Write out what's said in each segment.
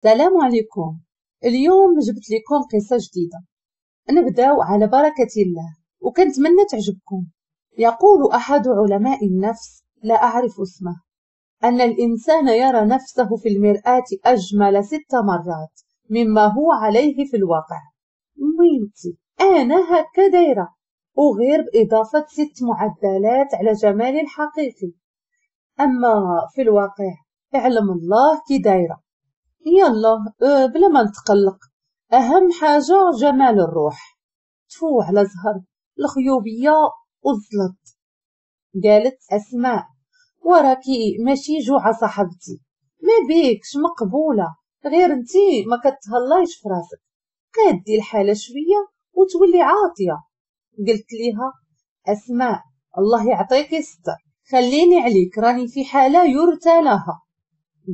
السلام عليكم. اليوم جبت لكم قصة جديدة، نبداو على بركة الله وكنتمنى تعجبكم. يقول أحد علماء النفس، لا أعرف اسمه، أن الإنسان يرى نفسه في المرآة أجمل 6 مرات مما هو عليه في الواقع. وينتي أنا هكا دايرة، وغير بإضافة 6 معدلات على جمالي الحقيقي، أما في الواقع اعلم الله كي دايرة. يلا بلا ما نتقلق، أهم حاجة جمال الروح. تفو على زهر الخيوبية والزلط. قالت أسماء: وراكي ماشي جوعة صاحبتي، ما بيكش مقبولة، غير انتي ما كتهلايش في راسك، قادي الحالة شوية وتولي عاطية. قلت ليها: أسماء الله يعطيك الستر، خليني عليك، راني في حالة يرثى لها.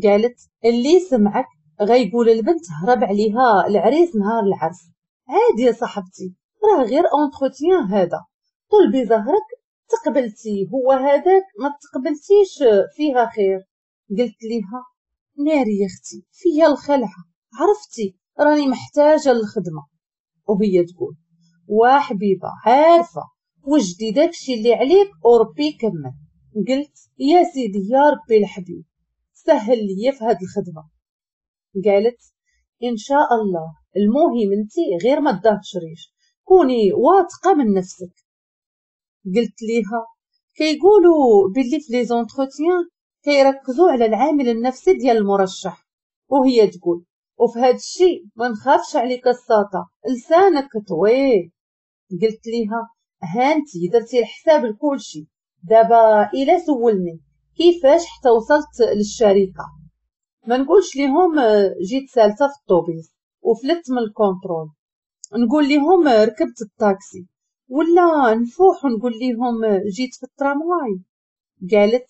قالت: اللي سمعك غيقول البنت هرب عليها العريس نهار العرس. عادي يا صاحبتي، راه غير entretien هذا، طلبي زهرك، تقبلتي هو هذاك، ما تقبلتيش فيها خير. قلت ليها: ناري يا اختي فيا الخلعة، عرفتي راني محتاجه للخدمة. وهي تقول: وحبيبه عارفه، وجدي داكشي اللي عليك وربي يكمل. قلت: يا سيدي يا ربي الحبيب سهل لي في هاد الخدمة. قالت: ان شاء الله، المهم انتي غير ما تدهشريش، كوني واثقة من نفسك. قلت ليها: كيقولوا باللي في les entretiens كيركزوا على العامل النفسي ديال المرشح. وهي تقول: وفي هاد الشيء ما نخافش عليك الساطه، لسانك طويل. قلت ليها: هانتي درتي الحساب لكلشي، دابا الا سولني كيفاش حتى وصلت للشركة ما نقولش ليهم جيت سالته في الطوبيس وفلت من ال contrôle، نقول ليهم ركبت الطاكسي، ولا نفوح ونقول ليهم جيت في الترامواي. قالت: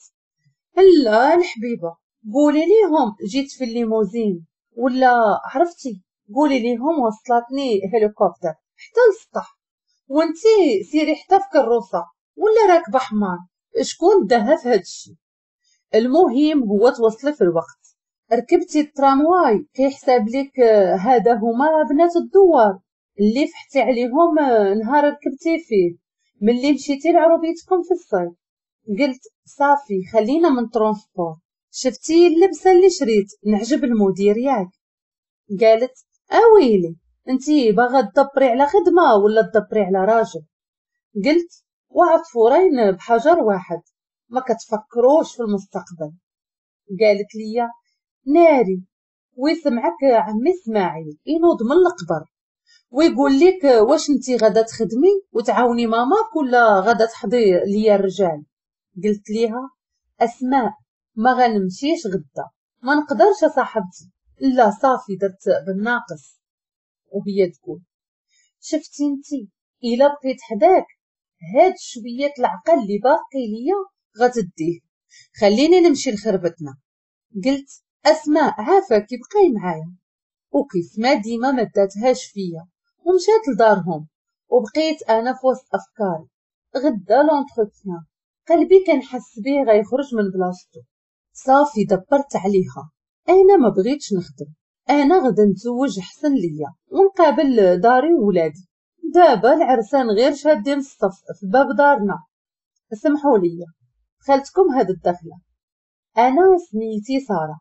لا الحبيبة، قولي ليهم جيت في الليموزين، ولا عرفتي قولي ليهم وصلتني هليكوبتر حتى للسطح، وانتي سيري حتى في كروسه ولا راكبه حمار، شكون داها في هادشي؟ المهم هو توصلي في الوقت. ركبتي الترامواي كيحساب لك هذا هما بنات الدوار اللي فحتي عليهم نهار ركبتي فيه ملي مشيتي لعروبيتكم في الصيف. قلت: صافي خلينا من transport، شفتي اللبسه اللي شريت نعجب المدير ياك؟ قالت: اويلي انتي باغا تدبري على خدمة ولا تدبري على راجل؟ قلت: وعصفورين بحجر واحد، ما كتفكروش في المستقبل. قالت لي: ناري ويسمعك عمي اسماعيل ينوض من القبر ويقول لك واش انتي غادا تخدمي وتعاوني ماماك ولا غادا تحضي ليا الرجال؟ قلت ليها: اسماء ما غنمشيش غدا، ما نقدرش صاحبتي، لا صافي درت بالناقص. وهي تقول: شفتي انتي الا بقيت حداك هاد شوية العقل اللي باقي ليا غتديه، خليني نمشي لخربتنا. قلت: اسماء عافاك بقاي معايا. وكيف ما ديما ما داتهاش فيا ومشات لدارهم، وبقيت انا في وسط افكاري. غدا l'entretien قلبي كنحس بيه غيخرج من بلاصتو. صافي دبرت عليها، انا ما بغيتش نخدم، انا غدا نتزوج احسن ليا ونقابل داري وولادي. دابا العرسان غير شادين الصف في باب دارنا. سمحوا لي دخلتكم هاد الدخلة. انا سميتي ساره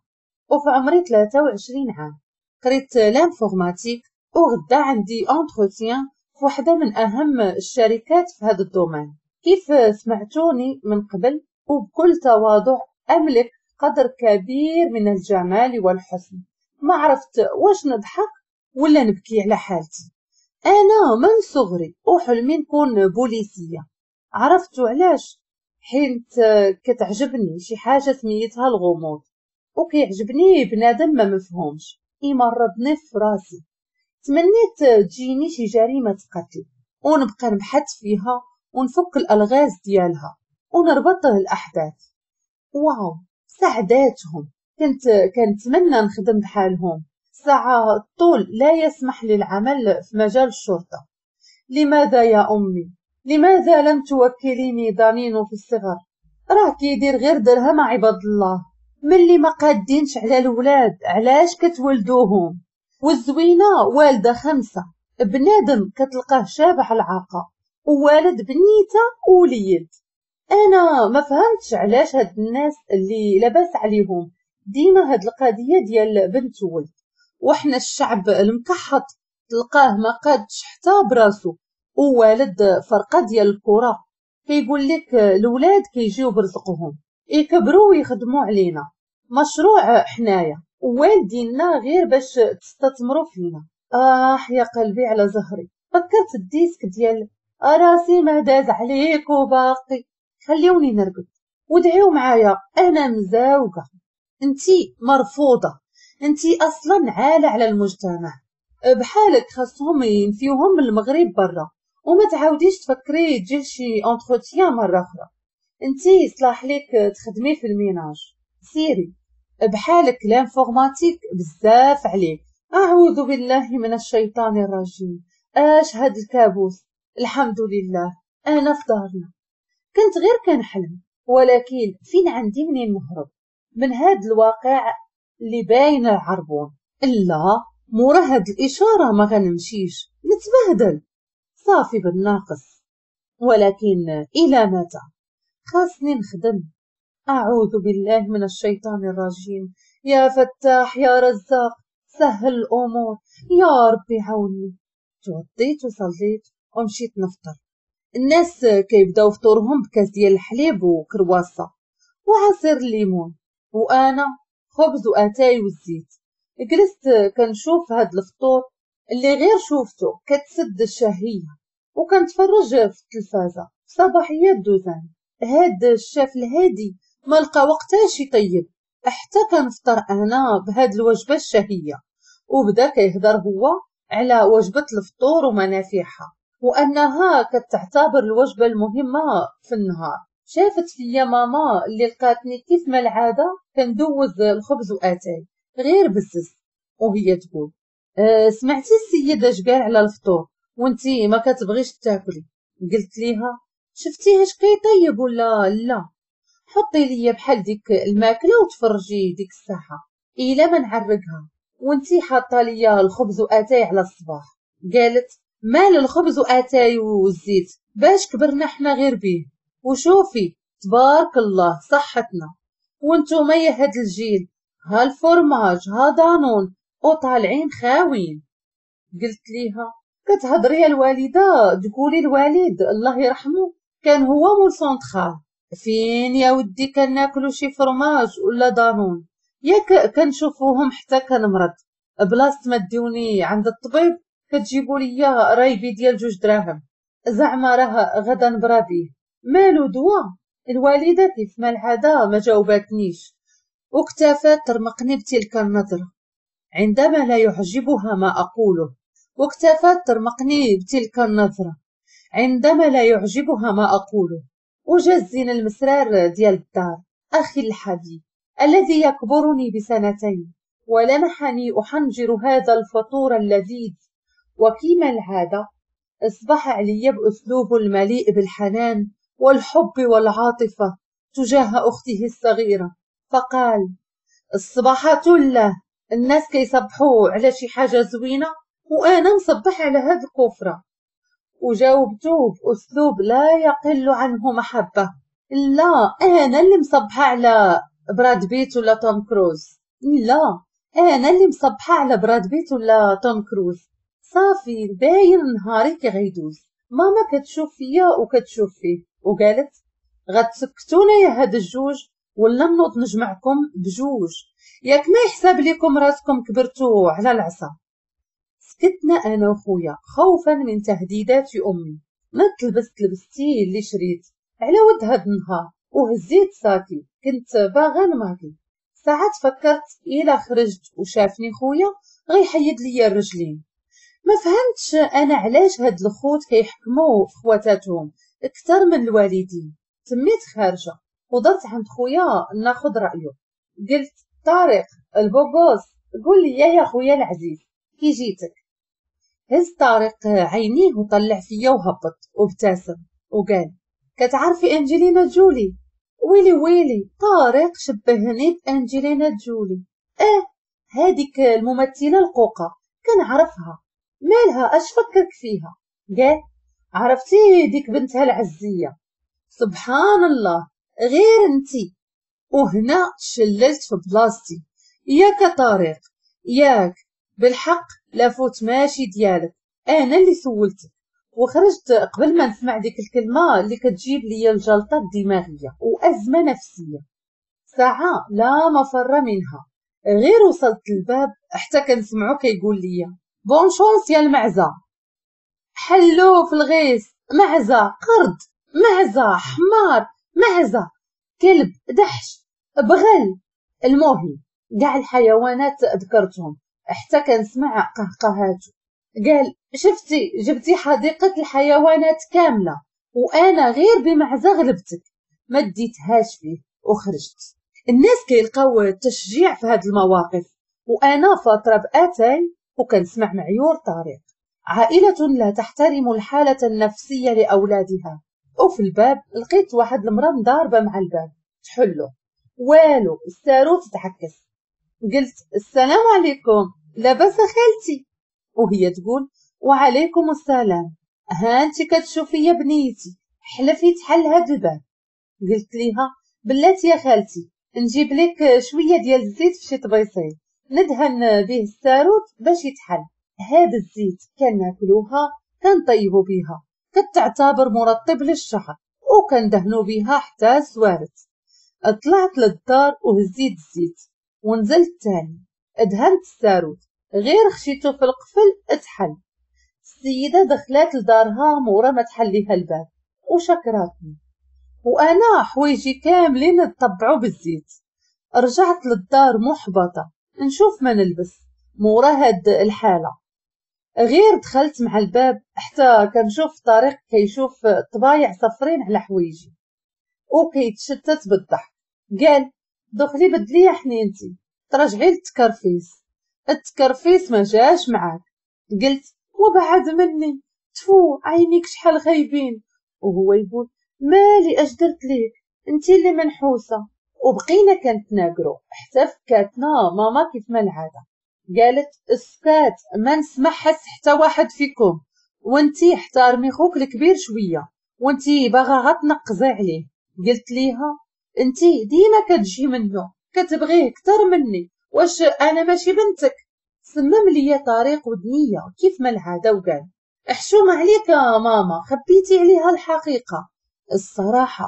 وفي عمري 23 عام، قريت l'informatique وغدا عندي entretien في واحدة من اهم الشركات في هذا ال domaine. كيف سمعتوني من قبل، وبكل تواضع املك قدر كبير من الجمال والحسن. ما عرفت واش نضحك ولا نبكي على حالتي. انا من صغري وحلمي نكون بوليسيه. عرفتوا علاش؟ حيت كتعجبني شي حاجة سميتها الغموض، وكيعجبني بنادم ما مفهومش يمرضني في راسي. تمنيت تجيني شي جريمة قتل ونبقى نبحث فيها ونفك الالغاز ديالها ونربط الاحداث. واو سعداتهم، كنت كنتمنى نخدم بحالهم. ساعة الطول لا يسمح للعمل في مجال الشرطة. لماذا يا أمي؟ لماذا لم توكليني ضنين في الصغر؟ راه كيدير غير درهم عباد الله، ملي ما قادينش على الولاد علاش كتولدوهم؟ والزوينه والده 5، بنادم كتلقاه شابع العاقه ووالد بنيته ووليد. انا ما فهمتش علاش هاد الناس اللي لاباس عليهم ديما هاد القضية ديال بنت وولد، وحنا الشعب المكحط تلقاه ما قادش حتى براسو ووالد فرقه ديال الكره. كيقول لك الولاد كيجيو برزقهم يكبروا ويخدموا علينا مشروع حنايا ووالدينا غير باش تستثمروا فينا. آه يا قلبي على زهري، فكرت ال disque ديال راسي ما داز عليك وباقي. خليوني نرقد ودعيو معايا، انا مزاوقه. انتي مرفوضة، انتي اصلا عالة على المجتمع، بحالك خاصهم ينفيوهم من المغرب برا، وما تعاوديش تفكري تجي شي entretien مرة اخرى. انتي صلاح ليك تخدمي في ال ménage، سيري بحالك l'informatique بزاف عليك. اعوذ بالله من الشيطان الرجيم، اش هاد الكابوس؟ الحمد لله انا في دارنا، كنت غير كنحلم، ولكن فين عندي منين نهرب من هاد الواقع اللي باين العربون؟ لا مورا هاد الاشارة ما غنمشيش نتبهدل صافي بالناقص. ولكن الى متى؟ خاصني نخدم. اعوذ بالله من الشيطان الرجيم، يا فتاح يا رزاق سهل الامور يا ربي عاوني. توضيت وصليت ومشيت نفطر. الناس كيبداو فطورهم بكاس ديال الحليب وكرواسه وعصير الليمون، وانا خبز واتاي والزيت. جلست كنشوف هاد الفطور اللي غير شوفته كتسد الشهية، وكنتفرج في التلفازه في صباحيات دوزان. هاد الشاف الهادي ما لقى وقتاش يطيب حتى كنفطر انا بهاد الوجبة الشهية، وبدا كيهضر هو على وجبة الفطور ومنافعها وانها كتعتبر الوجبة المهمة في النهار. شافت فيا ماما اللي لقاتني كيف ما العادة كندوز الخبز واتاي غير بزز، وهي تقول سمعتي السيدة اش قال على الفطور وانتي ما كتبغيش تاكلي؟ قلت ليها شفتيه اش كيطيب ولا لا؟ حطي ليا بحال ديك الماكلة وتفرجي ديك الساعة الا ما نعرقها، وانتي حاطه ليا الخبز واتاي على الصباح. قالت مال الخبز واتاي والزيت باش كبرنا حنا غير بيه، وشوفي تبارك الله صحتنا، وانتوما يا هاد الجيل ها الفرماج ها دانون وطالعين خاوين. قلت ليها كتهضري يا الوالدة تقولي الوالد الله يرحمه كان هو مول سونترال، فين يا ودي كناكلو شي فرماج ولا دانون؟ ياك كنشوفوهم حتى كنمرض، بلاصة ما ديوني عند الطبيب كتجيبوا ليا رايبي ديال 2 دراهم، زعما راه غدا نبرا بيه، مالو دوا؟ الوالدة كيف ما العادة ما جاوبتنيش واكتفت ترمقني بتلك النظرة عندما لا يعجبها ما اقوله، واكتفت ترمقني بتلك النظرة عندما لا يعجبها ما اقوله. وجا الزين المسرار ديال الدار اخي الحبيب الذي يكبرني ب2 سنين، ولمحني احنجر هذا الفطور اللذيذ، وكما العادة اصبح علي باسلوب المليء بالحنان والحب والعاطفة تجاه اخته الصغيرة، فقال الصباحات له الناس كيصبحوا على شي حاجة زوينة وانا مصبح على هاد الكفرة. وجاوبته باسلوب لا يقل عنه محبة، لا انا اللي مصبحه على براد بيت ولا توم كروز، لا انا اللي مصبحه على براد بيت ولا توم كروز. صافي باين نهاري كي غيدوز. ماما كتشوف فيا وكتشوف فيه وقالت غتسكتونا يا هاد الجوج ولا نوض نجمعكم بجوج، ياك ما يحسب لكم راسكم كبرتو على العصا. سكتنا انا وخويا خوفا من تهديدات امي. نضت لبست لبستي اللي شريت على ود هاد النهار وهزيت ساكي، كنت باغا نماكي. ساعات فكرت الا خرجت وشافني خويا غيحيد ليا الرجلين. ما فهمتش انا علاش هاد الخوت كيحكموا في خواتاتهم اكثر من الوالدين. تميت خارجه ودرت عند خويا ناخذ رايه. قلت طارق ال beau gosse قول لي يا خويا العزيز كي جيتك؟ هز طارق عينيه وطلع فيا وهبط وابتسم وقال كتعرفي انجلينا جولي؟ ويلي ويلي، طارق شبهني بأنجلينا جولي. هذيك الممثلة القوقة كنعرفها، مالها اش فكرك فيها؟ قال عرفتي ديك بنتها العزية، سبحان الله غير انتي. وهنا شللت في بلاصتي. ياك طارق ياك، بالحق la faute ماشي ديالك، انا اللي سولتك. وخرجت قبل ما نسمع ديك الكلمة اللي كتجيب لي الجلطة الدماغية وأزمة نفسية. ساعة لا مفر منها. غير وصلت للباب حتى كنسمعو كيقول لي bonne chance يا المعزة. حلو في الغيس، معزة قرد، معزة حمار، معزة كلب، دحش، بغل. المهم كاع الحيوانات ذكرتهم حتى كنسمع قهقهاتو. قال شفتي جبتي حديقة الحيوانات كاملة وأنا غير بمعزة غلبتك. ما ديتهاش فيه وخرجت. الناس كيلقاو التشجيع في هاد المواقف، وأنا فاطرة بأتاي وكنسمع معيور طارق. عائلة لا تحترم الحالة النفسية لأولادها. وفي الباب لقيت واحد المرأة مضاربة مع الباب، تحلو والو، الساروت تحكس. قلت السلام عليكم، لاباس خالتي؟ وهي تقول وعليكم السلام، ها انت كتشوفي يا بنيتي، حلفي تحل هاد الباب. قلت ليها بلاتي يا خالتي نجيب لك شوية ديال الزيت في شي طبيصيل ندهن به الساروت باش يتحل. هاد الزيت كناكلوها كنطيبو بها، كتعتبر مرطب للشعر وكندهنو بها حتى سوارت. طلعت للدار وهزيت الزيت ونزلت تاني دهنت الساروت، غير خشيتو في القفل اتحل. السيدة دخلات لدارها مورا ما تحليها الباب وشكراتني، وانا حوايجي كاملين تطبعوا بالزيت. رجعت للدار محبطة نشوف ما نلبس مورا هاد الحالة. غير دخلت مع الباب حتى كنشوف طارق كيشوف طبايع صفرين على حوايجي وكيتشتت بالضحك. قال دخلي بدلي يا حنينتي، ترجعي للتكرفيس، التكرفيس ما جاش معاك. قلت وبعد مني، تفو عينيك شحال خايبين. وهو يقول مالي اش درت ليك، انتي اللي منحوسه. وبقينا كنتناقرو حتى فكاتنا ماما كيف ما العادة. قالت اسكات، ما نسمع حس حتى واحد فيكم، وانتي احترمي خوك الكبير شوية، وانتي باغا غتنقزي عليه. قلت ليها انتي ديما كتجي منه، كتبغيه اكثر مني، واش انا ماشي بنتك؟ سمم ليا طريق ودنيه كيف ما العادة وقال احشوم عليك يا ماما، خبيتي عليها الحقيقة. الصراحة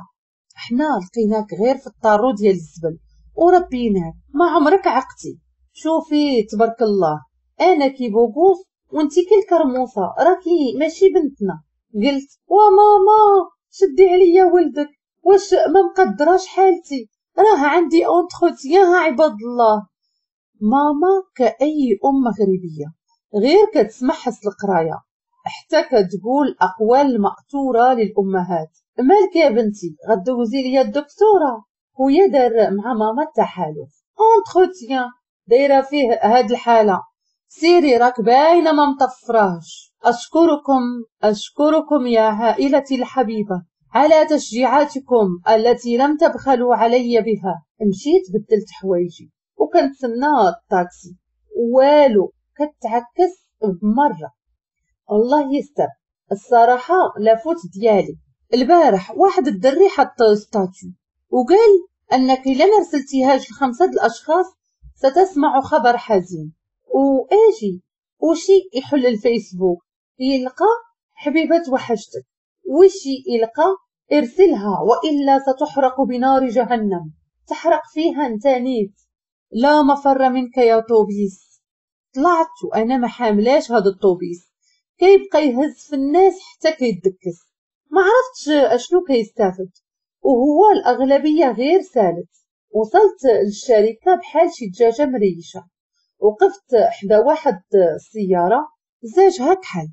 حنا لقيناك غير في الطارو ديال الزبل وربيناك، ما عمرك عقتي. شوفي تبارك الله، انا كي beau gosse وانتي كي الكرموسه، راكي ماشي بنتنا. قلت وماما شدي عليا ولدك، واش ما مقدراش حالتي، راه عندي entretien عباد الله. ماما كأي ام مغربية غير كتسمع حس القراية حتى كتقول اقوال مأثوره للامهات. مالك يا بنتي غدوزي ليا الدكتورة؟ خويا دار مع ماما التحالف entretien دايرة فيه هاد الحالة، سيري راك باينة ما مطفراش. اشكركم يا عائلتي الحبيبة على تشجيعاتكم التي لم تبخلوا علي بها. مشيت بدلت حوايجي وكنتسنى الطاكسي، والو كتعكس بمرة. الله يستر. الصراحة la faute ديالي. البارح واحد الدري حط statut وقال انك الا ما رسلتيهاش لخمسة الاشخاص ستسمع خبر حزين. واجي وشي يحل الفيسبوك يلقى حبيبه وحشتك، وشي يلقى ارسلها والا ستحرق بنار جهنم، تحرق فيها انت نيت، لا مفر منك يا طوبيس. طلعت وانا ما حاملاش هذا الطوبيس، كيبقى يهز في الناس حتى كيدكس، ما عرفتش اشنو كيستافد، وهو الاغلبية غير سالت. وصلت للشركة بحال شي دجاجه مريشه، وقفت حدا واحد السيارة زاجها كحل،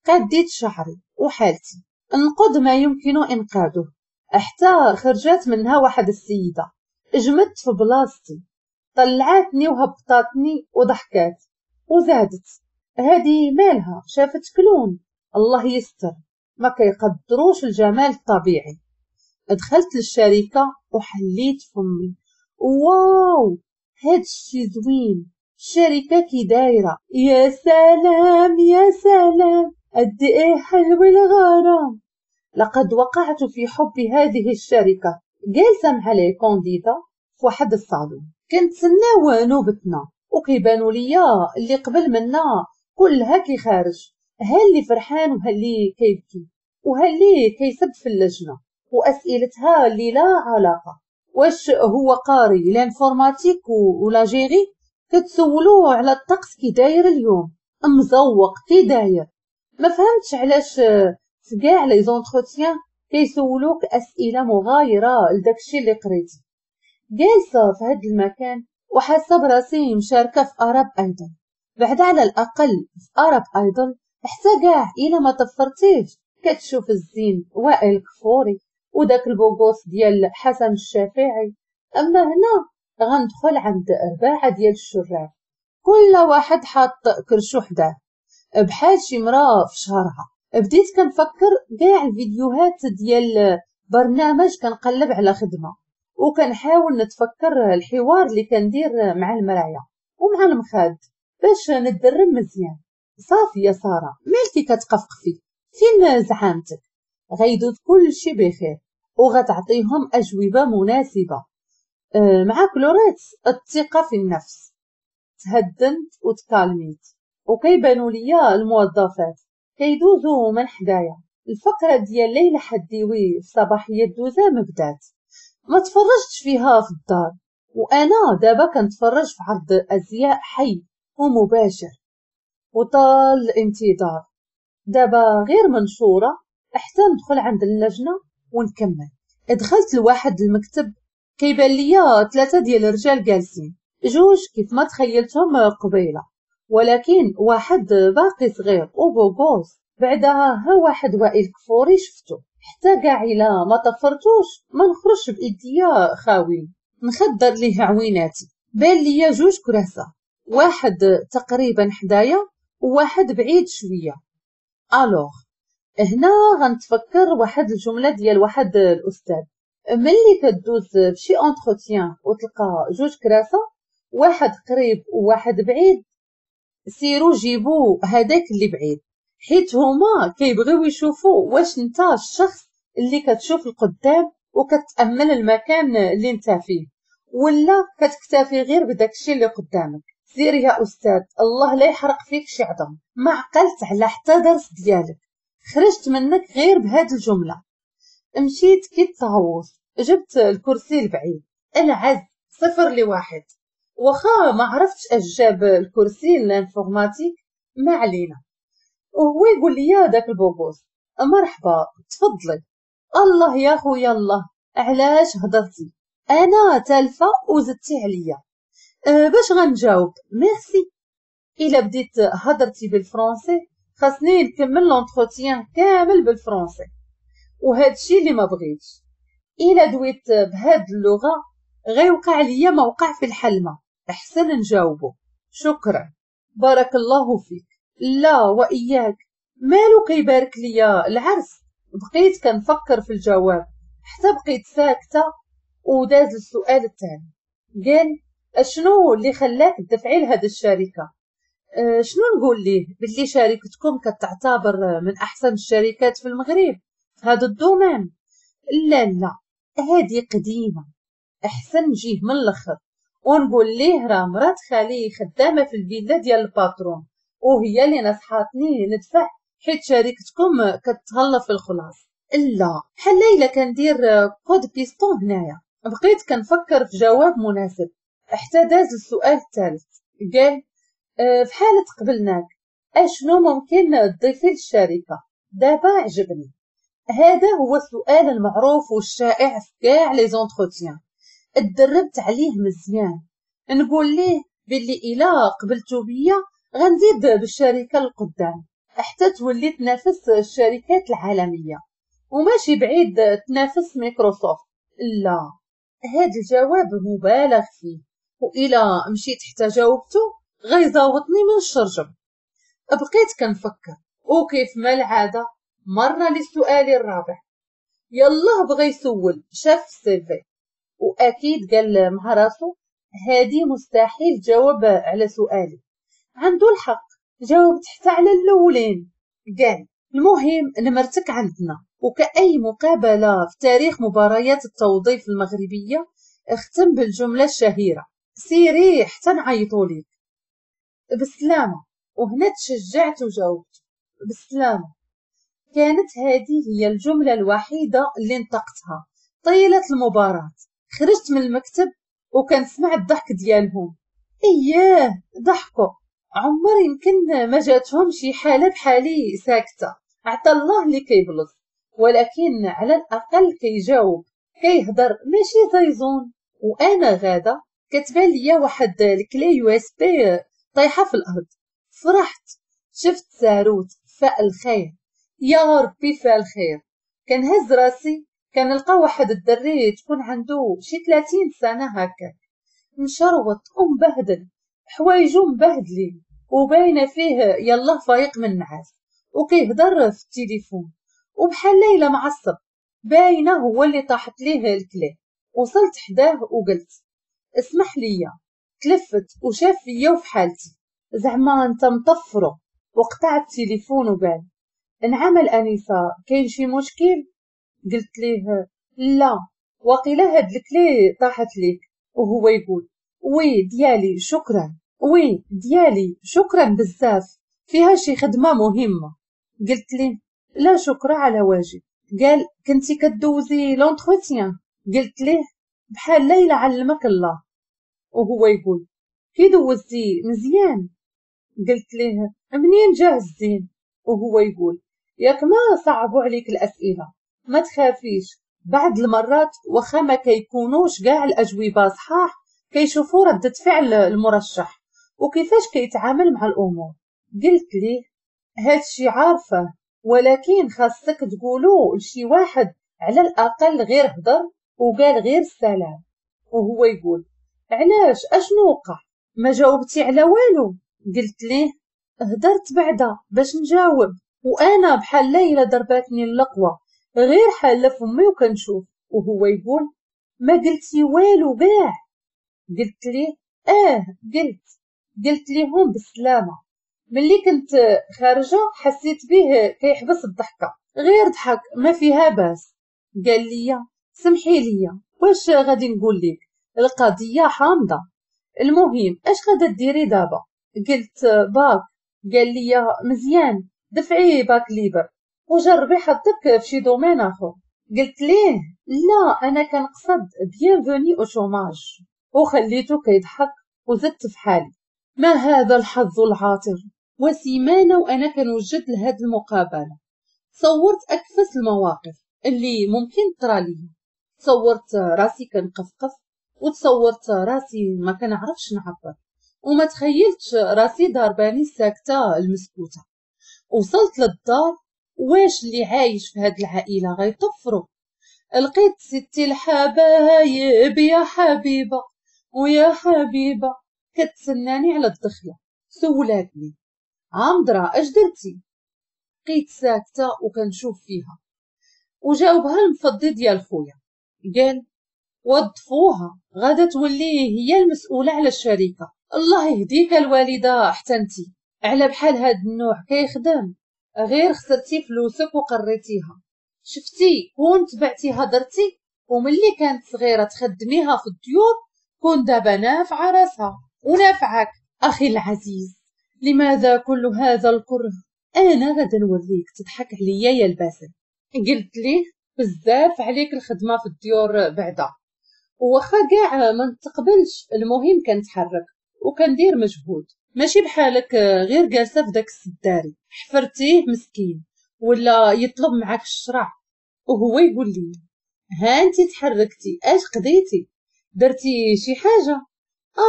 قديت شعري وحالتي انقذ ما يمكن انقاذه، حتى خرجت منها واحد السيدة جمدت في بلاصتي، طلعتني وهبطاتني وضحكات وزادت. هذه مالها شافت clown، الله يستر، ما كيقدروش الجمال الطبيعي. دخلت للشركة وحليت فمي. واو، هادشي زوين، الشركة كي دايرة، يا سلام يا سلام، قد ايه حلو الغرام. لقد وقعت في حب هذه الشركة. جالسة مع les candidats في واحد الصالون، كنتسناو نوبتنا، وكيبانوا ليا اللي قبل منا كلها كيخارج، ها اللي فرحان وها اللي كيبكي وها اللي كيسب في اللجنة، وأسئلتها اللي لا علاقة. واش هو قاري l'informatique ولا gérer؟ كتسولوه على الطقس كي داير اليوم، مزوق كي داير. ما فهمتش علاش في كاع les entretiens كيسولوك اسئلة مغايرة لداكشي اللي قريتي. جالسة في هاد المكان وحاسه براسي مشاركة في Arab Idol. بعد على الاقل في Arab Idol حتى كاع الا ما طفرتيش كتشوف الزين وائل كفوري وداك ال beau gosse ديال حسن الشافعي. اما هنا غندخل عند رباعه ديال الشراف، كل واحد حاط كرشو حداه بحال شي مراة في شهرها. بديت كنفكر كاع الفيديوهات ديال برنامج كنقلب على خدمة، وكنحاول نتفكر الحوار اللي كندير مع المرايا ومع المخاد باش نتدرب مزيان. صافي يا ساره، مالكي كتقفقفي؟ فين زعامتك؟ غيدوز كل شي بخير وغتعطيهم اجوبه مناسبة. مع كلوريت الثقة في النفس. تهدنت وتكالميت، وكيبانوا ليا الموظفات كيدوزو من حدايا. الفقرة ديال ليلى حديوي في صباحية دوزام بدات، ما تفرجتش فيها في الدار، وانا دابا كنتفرج في عرض ازياء حي ومباشر. وطال الانتظار، دابا غير منشورة حتى ندخل عند اللجنة ونكمل. دخلت لواحد المكتب، كيبان ليا 3 ديال الرجال جالسين، جوج كيف ما تخيلتهم قبيلة، ولكن واحد باقي صغير و beau gosse. بعدها ها واحد وائل كفوري شفتو، حتى كاع الا ما طفرتوش ما نخرجش بايديا خاويين، نخدر ليه عويناتي. بان ليا جوج كراسة، واحد تقريبا حدايا وواحد بعيد شوية. alors هنا غنتفكر واحد الجملة ديال واحد الاستاذ، ملي كدوز فشي entretien وتلقى جوج كراسة، واحد قريب وواحد بعيد، سيرو جيبو هذاك اللي بعيد، حيت هما كيبغيو يشوفوا واش انت الشخص اللي كتشوف القدام وكتامل المكان اللي انت فيه، ولا كتكتفي غير بداكشي اللي قدامك. سير يا استاذ، الله لا يحرق فيك شي عظم، ما عقلت على حتى درس ديالك، خرجت منك غير بهاد الجملة. مشيت كي الطاووس، جبت الكرسي البعيد، العز 0-1. واخا ما عرفتش اش جاب الكرسي l'informatique، ما علينا. وهو يقول لي داك ال beau gosse مرحبا تفضلي. الله يا خويا الله، علاش هضرتي؟ انا تالفه وزدتي عليا. باش غنجاوب؟ ميرسي. الا بديت هضرتي بالفرنسي خاصني نكمل l'entretien كامل بالفرنسي، وهادشي اللي ما بغيتش. الا دويت بهاد اللغة غيوقع ليا ما وقع في الحلمة. احسن نجاوبو شكرا، بارك الله فيك. لا واياك، مالو كيبارك ليا العرس؟ بقيت كنفكر في الجواب حتى بقيت ساكته. وداز السؤال الثاني، قال اشنو اللي خلاك تدفعي لهاد الشركة؟ شنو نقول ليه؟ باللي شركتكم كتعتبر من احسن الشركات في المغرب في هذا ال domaine. لا لا، هذه قديمة، احسن نجيه من الاخر ونقول ليه راه مرات خالي خدامه في الفيلا ديال ال patron، وهي اللي نصحاتني ندفع حيت شركتكم كتهلا في الخلاص. لا، بحال الا كندير coup de piston هنايا. بقيت كنفكر في جواب مناسب حتى داز السؤال الثالث. قال في حالة قبلناك اشنو ممكن تضيفي للشركة؟ دابا عجبني. هذا هو السؤال المعروف والشائع في كاع les entretiens، اتدربت عليه مزيان. نقول ليه باللي الا قبلتو بيا غنزيد بالشركة للقدام حتى تولي تنافس الشركات العالمية، وماشي بعيد تنافس مايكروسوفت. لا، هذا الجواب مبالغ فيه، وإلا مشيت حتى جاوبته غيزاوطني من الشرجم. بقيت كنفكر، وكيف ما العادة مرنا للسؤال الرابع. يلا بغى يسول، شاف ال CV، واكيد قال مع راسو هادي مستحيل تجاوب على سؤالي. عنده الحق، جاوبت حتى على الاولين. قال المهم نمرتك عندنا، وكأي مقابلة في تاريخ مباريات التوظيف المغربية اختم بالجملة الشهيرة سيري حتى نعيطوا ليك بالسلامة. وهنا تشجعت وجاوبت بالسلامة. كانت هذه هي الجملة الوحيدة اللي نطقتها طيلة المباراة. خرجت من المكتب وكنسمع الضحك ديالهم. اياه ضحكوا، عمر يمكن ما جاتهم شي حالة بحالي ساكتة. عطا الله اللي كيبلص، ولكن على الأقل كيجاوب كيهضر ماشي زيزون. وأنا غادا كتبان ليا واحد ال clé USB طايحة في الأرض. فرحت، شفت ساروت فاء الخير، يا ربي فاء الخير. كنهز راسي كنلقى واحد الدري تكون عنده شي 30 سنة هكاك، مشروط ومبهدل، حوايجو مبهدلين وباينة فيه يلا فايق من النعاس، وكيهضر في التليفون وبحال ليلى معصب، باينة هو اللي طاحت ليه ال clé. وصلت حداه وقلت اسمح ليا. تلفت وشاف فيا وفي حالتي زعما انت مطفرو، وقطع التليفون وقال نعم الانسة كاين شي مشكل؟ قلت ليه لا، وقيله هاد ال clé طاحت ليك. وهو يقول oui ديالي شكرا، oui ديالي شكرا بزاف، فيها شي خدمة مهمة. قلت ليه لا شكرا على واجب. قال كنتي كدوزي l'entretien؟ قلت ليه بحال ليلى علمك الله. وهو يقول كي دوزتي مزيان؟ قلت ليه منين جاه الزين؟ وهو يقول ياك ما صعبوا عليك الاسئلة، ما تخافيش، بعض المرات واخا ما كيكونوش كاع الاجوبة صحاح كيشوفوا ردة فعل المرشح وكيفاش كيتعامل مع الامور. قلت ليه هادشي عارفه، ولكن خاصك تقولو لشي واحد على الاقل غير هضر وقال غير السلام. وهو يقول علاش اشنو وقع؟ ما جاوبتي على والو؟ قلت ليه هدرت بعدا باش نجاوب، وانا بحال ليلى ضرباتني اللقوه غير حاله فمي وكنشوف. وهو يقول ما قلتي والو كاع؟ قلت ليه قلت ليهم بالسلامة. ملي كنت خارجه حسيت به كيحبس الضحكة، غير ضحك ما فيها باس. قال لي سمحي لي واش غادي نقول لك، القضية حامضه، المهم اش غادا ديري دابا؟ قلت باك. قال لي مزيان، دفعي bac libre وجربي حظك في شي domaine اخر. قلت ليه لا، انا كنقصد bienvenue au chômage. وخليته كيضحك وزدت في حالي. ما هذا الحظ العاطر! وسيمانه وانا كنوجد لهاد المقابلة صورت اكفس المواقف اللي ممكن ترى لي. تصورت راسي كنقفقف، وتصورت راسي ما كنعرفش نعبر، وما تخيلتش راسي ضرباني الساكته المسكوته. وصلت للدار، واش اللي عايش في هاد العائلة غيطفروا؟ لقيت ستي الحبايب يا حبيبه ويا حبيبه كتسناني على الدخلة. سولاتني عمدرا اش درتي؟ بقيت ساكته وكنشوف فيها. وجاوبها المفضي ديال خويا، قال وظفوها غادا تولي هي المسؤولة على الشركة. الله يهديك الوالدة، حتى انتي على بحال هاد النوع كيخدم، غير خسرتي فلوسك وقريتيها. شفتي كون تبعتي هضرتي وملي كانت صغيرة تخدميها في الديور كون دابا نافعة راسها ونافعك. اخي العزيز، لماذا كل هذا الكره؟ انا غادا نوريك تضحك عليا يا الباسل. قلت ليه بزاف عليك الخدمة في الديور بعدا، وخا كاع ما نتقبلش، المهم كنتحرك وكندير مجهود، ماشي بحالك غير جالسة في داك السداري حفرتيه مسكين ولا يطلب معاك الشرع. وهو يقول لي ها انت تحركتي، اش قضيتي؟ درتي شي حاجة؟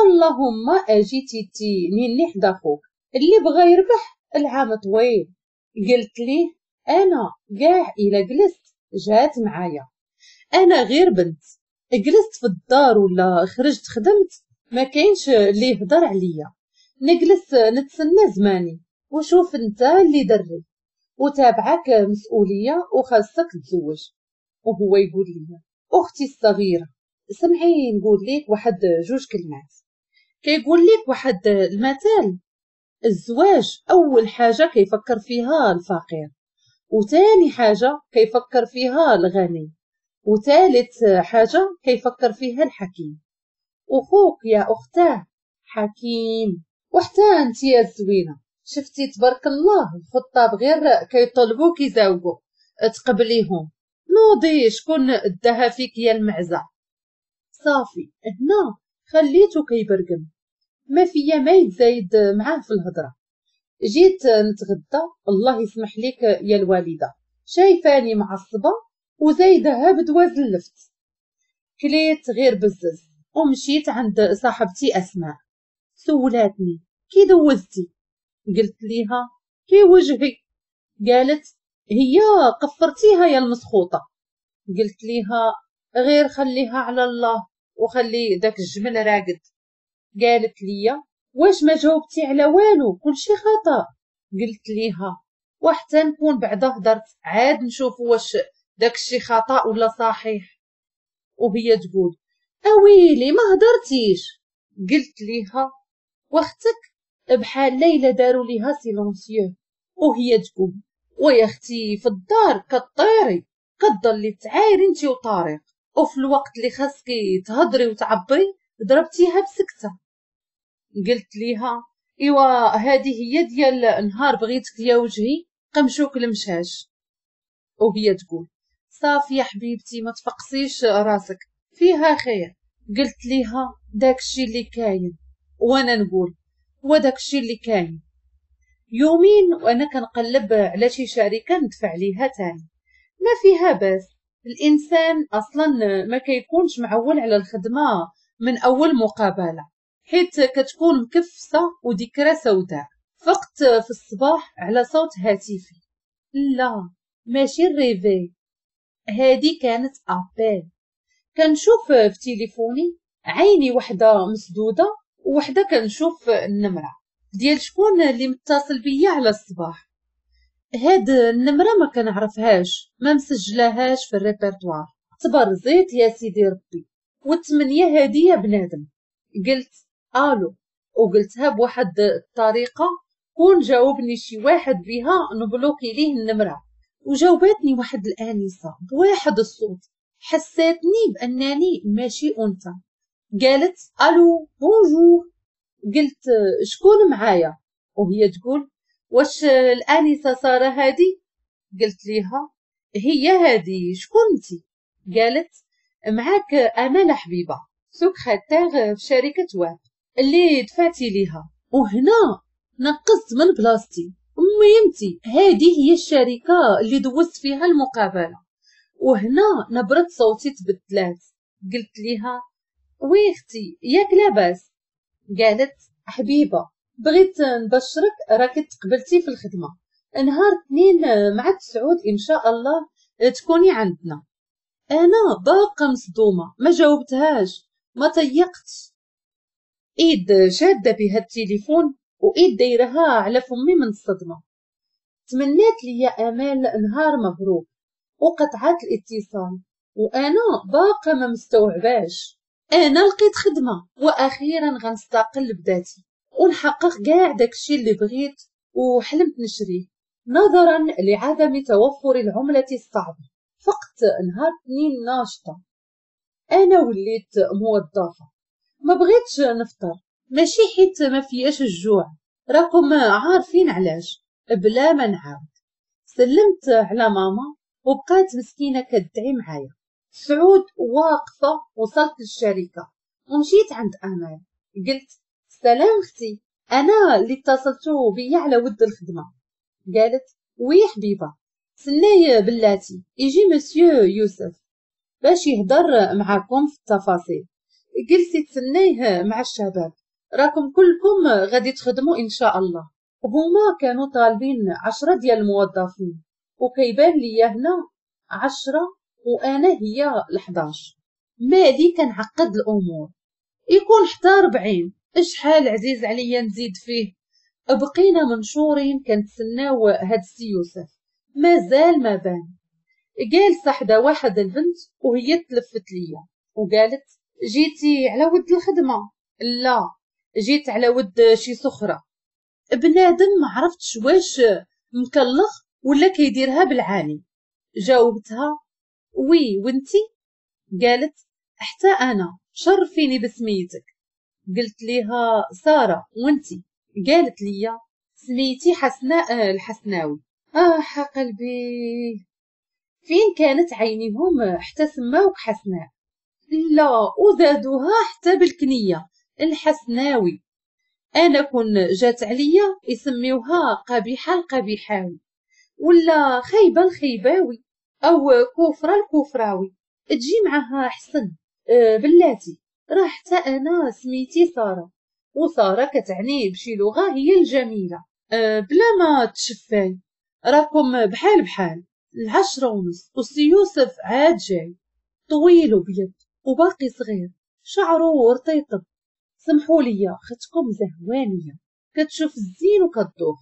اللهم اجيتي تي نيني حدا خوك اللي بغى يربح العام طويل. قلت ليه انا كاع الا جلست جات معايا، انا غير بنت، جلست في الدار ولا خرجت خدمت ما كاينش اللي يهضر عليا، نجلس نتسنى زماني وشوف انت اللي دري وتابعك مسؤولية وخاصك تزوج. وهو يقول لي اختي الصغيرة سمعي نقول لك واحد جوج كلمات. كيقول لك واحد المثال، الزواج اول حاجة كيفكر فيها الفقير، وثاني حاجة كيفكر فيها الغني، وثالث حاجة كيفكر فيها الحكيم. وخوك يا اختاه حكيم، وحتى انت يا الزوينة شفتي تبارك الله الخطاب غير كيطلبوك يزاوجوا تقبليهم. نوضي شكون داها فيك يا المعزه. صافي هنا خليته كيبرقم، ما فيا ما يتزايد معاه في الهضرة. جيت نتغدى، الله يسمح لك يا الوالدة، شايفاني معصبة وزايدها بدواز اللفت. كليت غير بزز ومشيت عند صاحبتي اسماء. سولاتني كي دوزتي؟ قلت ليها كي وجهي. قالت هي قفرتيها يا المسخوطه. قلت ليها غير خليها على الله وخلي داك الجمل راقد. قالت لي واش ما جاوبتي على والو، كلشي خطا. قلت ليها وحتى نكون بعدا هدرت عاد نشوف واش داكشي خطا ولا صحيح. وهي تقول اويلي ما هدرتيش. قلت ليها واختك بحال ليلى داروا ليها silencieux. وهي تقول ويا اختي في الدار كطيري، كتضلي تعايري انتي وطارق، وفي الوقت اللي خاصكي تهضري وتعبري ضربتيها بسكته. قلت ليها ايوا هذه هي ديال نهار بغيتك يا وجهي قمشوك المشاش. وهي تقول صافي يا حبيبتي ما تفقسيش راسك فيها خير. قلت ليها داكشي اللي كاين، وانا نقول وداكشي اللي كاين. يومين وانا كنقلب على شي شركة ندفع ليها تاني، ما فيها باس، الانسان اصلا ما كيكونش معول على الخدمة من اول مقابله، حيت كتكون مكفسه وذكرى سوداء. فقت في الصباح على صوت هاتفي، لا ماشي ال réveil، هادي كانت appel. كنشوف في تليفوني عيني وحده مسدودة وحده كنشوف النمرة ديال شكون اللي متصل بيا على الصباح. هاد النمرة ما كنعرفهاش، ما مسجلاهاش في الريبرتوار. تبرزيت يا سيدي ربي، والثمانية هادي يا بنادم. قلت الو، وقلتها بواحد الطريقة كون جاوبني شي واحد بها نبلوكي ليه النمرة. وجاوبتني واحد الانسة بواحد الصوت حساتني بانني ماشي انثى. قالت allô bonjour. قلت شكون معايا؟ وهي تقول واش الانسة ساره هادي؟ قلت ليها هي هادي، شكون انتي؟ قالت معاك امال حبيبه سكرتير في شركة واب اللي دفعتي ليها. وهنا نقصت من بلاصتي، ميمتي هادي هي الشركة اللي دوزت فيها المقابلة. وهنا نبره صوتي تبدلات. قلت ليها oui اختي ياك لاباس؟ قالت حبيبه بغيت نبشرك راكي تقبلتي في الخدمة، نهار 2 مع 9 ان شاء الله تكوني عندنا. انا باقه مصدومة، ما جاوبتهاش، ما تيقتش. ايد شاده بها التليفون وايد دايرها على فمي من الصدمة. تمنات لي امال نهار مبروك وقطعات الاتصال، وانا باقه ما مستوعباش. انا لقيت خدمة واخيرا غنستقل بذاتي ونحقق كاع داكشي اللي بغيت وحلمت نشريه، نظرا لعدم توفر العملة الصعبة. فقت نهار 2 ناشطة، انا وليت موظفة. ما بغيتش نفطر، ماشي حيت ما فياش الجوع، راكم عارفين علاش، بلا ما نعاود. سلمت على ماما وبقات مسكينه كدعي معايا. سعود واقفة وصلت للشركة ومشيت عند امال. قلت سلام اختي، انا اللي اتصلتو بيا على ود الخدمة. قالت oui حبيبه، سناي بلاتي يجي مسيو يوسف باش يهضر معاكم في التفاصيل. جلسي تسنيه مع الشباب، راكم كلكم غادي تخدموا ان شاء الله. وهما كانوا طالبين 10 ديال الموظفين، وكيبان ليا هنا 10 وانا هي 11. مالي كنعقد الامور، يكون حتى 40، اشحال عزيز عليا نزيد فيه. بقينا منشورين كنتسناو هاد السي يوسف، مازال ما بان. جالسة حدا واحد البنت وهي تلفت ليا وقالت جيتي على ود الخدمة؟ لا، جيت على ود شي سخره. بنادم ما عرفتش واش مكلخ ولا كيديرها بالعاني. جاوبتها oui وانتي؟ قالت حتى انا، شرفيني بسميتك. قلت ليها ساره وانتي؟ قالت لي سميتي حسناء الحسناوي. قلبي، فين كانت عينيهم حتى سماوك حسناء؟ لا، وزادوها حتى بالكنية الحسناوي. انا كون جات عليا يسميوها قبيحة القبيحاوي، ولا خيبه الخيباوي، او كفره الكفراوي، تجي معها حسن. بلاتي، راه حتى انا سميتي ساره، وسارة كتعني بشي لغة هي الجميلة. بلا ما تشفاي، راكم بحال بحال. 10:30 وسي يوسف عاد جاي، طويل وبيض وباقي صغير، شعره رطيطب. سمحوا لي ختكم زهوانيه، كتشوف الزين وكتدوخ.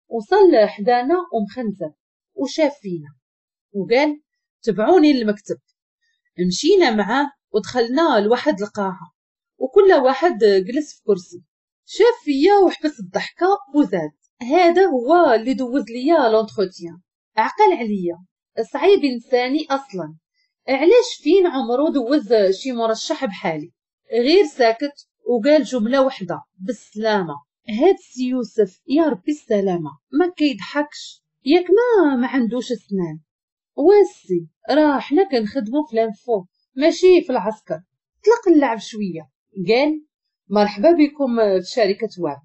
وصل حدانا ومخنزر وشاف فينا وقال تبعوني للمكتب. مشينا معاه ودخلنا لواحد القاعة، وكل واحد جلس في كرسي. شاف فيا وحبس الضحكة وزاد، هذا هو اللي دوز ليا l'entretien. عقل عليا، صعيب انساني اصلا، علاش فين عمرو دوز شي مرشح بحالي؟ غير ساكت وقال جملة وحده بالسلامة. هاد السي يوسف يا ربي السلامة ما كيضحكش، ياك ما عندوش اسنان. واسي راه حنا كنخدمو في l'info ماشي في العسكر. طلق اللعب شوية. قال مرحبا بكم في شركة واب.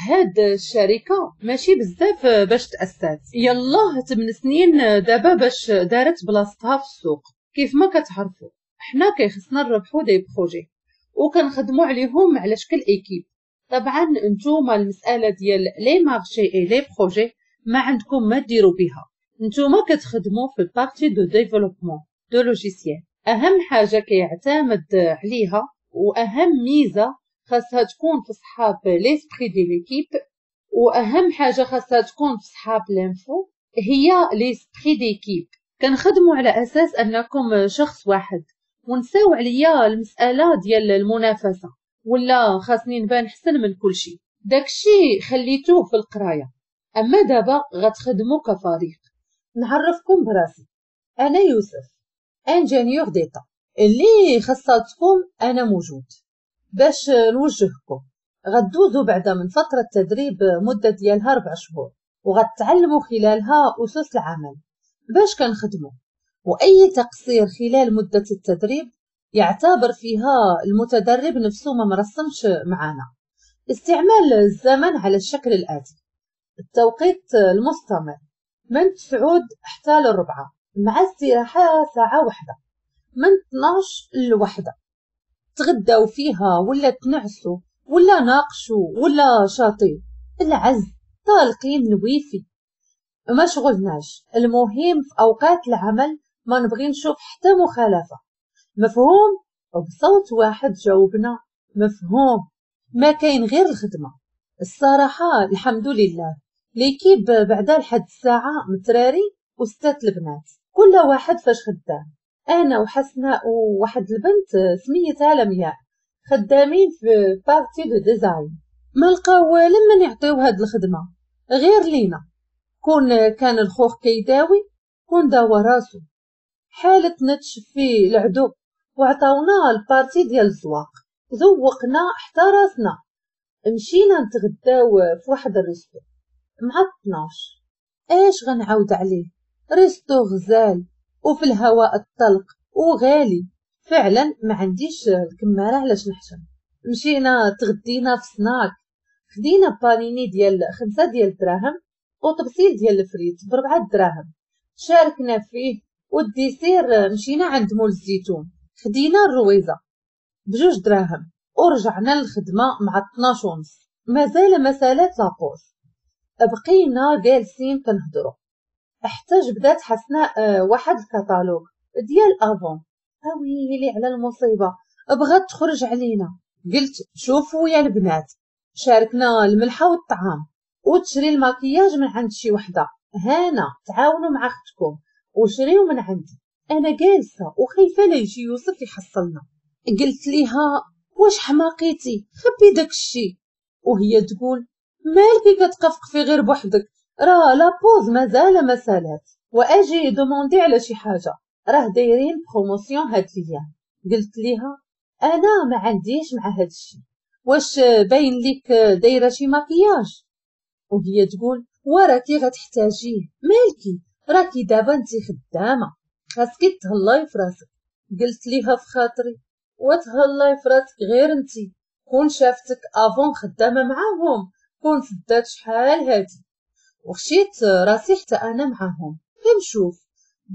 هاد الشركة ماشي بزاف باش تاسات، يلاه 8 سنين دابا باش دارت بلاصتها في السوق. كيف ما كتعرفوا حنا كيخصنا نربحو des projets وكنخدمو عليهم على شكل équipe. طبعا نتوما المسالة ديال les marchés et les projets ما عندكم ما ديروا بها، نتوما كتخدموا في ال partie de développement de logiciel. اهم حاجة كيعتمد عليها واهم ميزة خاصها تكون في صحاب l'esprit de l'équipe، واهم حاجة خاصها تكون في صحاب l'info هي l'esprit d'équipe. كنخدموا على اساس انكم شخص واحد، ونساو عليا المسالة ديال المنافسة ولا خاصني نبان حسن من كل شيء. داكشي خليتوه في القراية، اما دابا غتخدموا كفريق. نعرفكم براسي، انا يوسف ingénieur d'état، اللي خصاتكم انا موجود باش نوجهكم. غدوزوا بعدا من فترة تدريب مده ديالها 4 شهور، وغتعلموا خلالها اسس العمل باش كنخدموا، واي تقصير خلال مده التدريب يعتبر فيها المتدرب نفسه ما مرسمش معانا. استعمال الزمن على الشكل الاتي: التوقيت المستمر من 9 حتى 4، مع استراحة ساعة واحدة، من 12 ل1. تغداو فيها ولا تنعسوا ولا ناقشوا ولا شاطي العز، طالقين الويفي، ما شغلناش. المهم في اوقات العمل ما نبغي نشوف حتى مخالفة. مفهوم؟ وبصوت واحد جاوبنا مفهوم. ما كاين غير الخدمة. الصراحة الحمد لله l'équipe بعدا لحد الساعة متراري وستات البنات، كل واحد فاش خدام. انا وحسناء وواحد البنت سميتها لمياء خدامين في partie de design. ما لقاو لمن يعطيو هاد الخدمة غير لينا. كون كان الخوخ كيداوي كون داوى راسو. حالتنا تشفي العدو وعطاونا ال partie ديال الزواق، زوقنا حتى راسنا. مشينا نتغداو في واحد ال resto مع 12. اش غنعاود عليه، resto غزال وفي الهواء الطلق وغالي فعلا. ما عنديش الكماره علاش نحشم. مشينا تغدينا في سناك، خدينا بانيني ديال 5 ديال الدراهم وطبسيل ديال الفريت ب4 دراهم، شاركنا فيه. وال dessert مشينا عند مول الزيتون، خدينا الرويزه ب2 دراهم ورجعنا للخدمة مع 12:30. مازال مسالات la pause، بقينا جالسين كنهضروا حتى جبدات حسناء واحد الكتالوج ديال Avon. اويلي على المصيبة، بغات تخرج علينا. قلت شوفوا يا البنات، شاركنا الملحة والطعام وتشري الماكياج من عند شي وحده، هانا تعاونوا مع اختكم وشريو من عندي. انا جالسة وخايفة لا يجي يوسف يحصلنا. قلت ليها واش حماقيتي، خبي داك الشيء. وهي تقول مالكي كتقفقفي غير بوحدك، راه la pause مازال ما سالات، واجي demander على شي حاجة، راه دايرين promotion هاد الايام. قلت ليها انا ما عنديش مع هاد الشيء، واش باين لك دايرة شي مكياج؟ وهي تقول وراكي غتحتاجيه، مالكي راكي دابا انت خدامه، خاصك تهلاي في راسك. قلت ليها في خاطري وتهلاي في راسك غير انت، كون شافتك avant خدامه معاهم كون سدات شحال هادي. وخشيت راسي حتى انا معاهم كنشوف،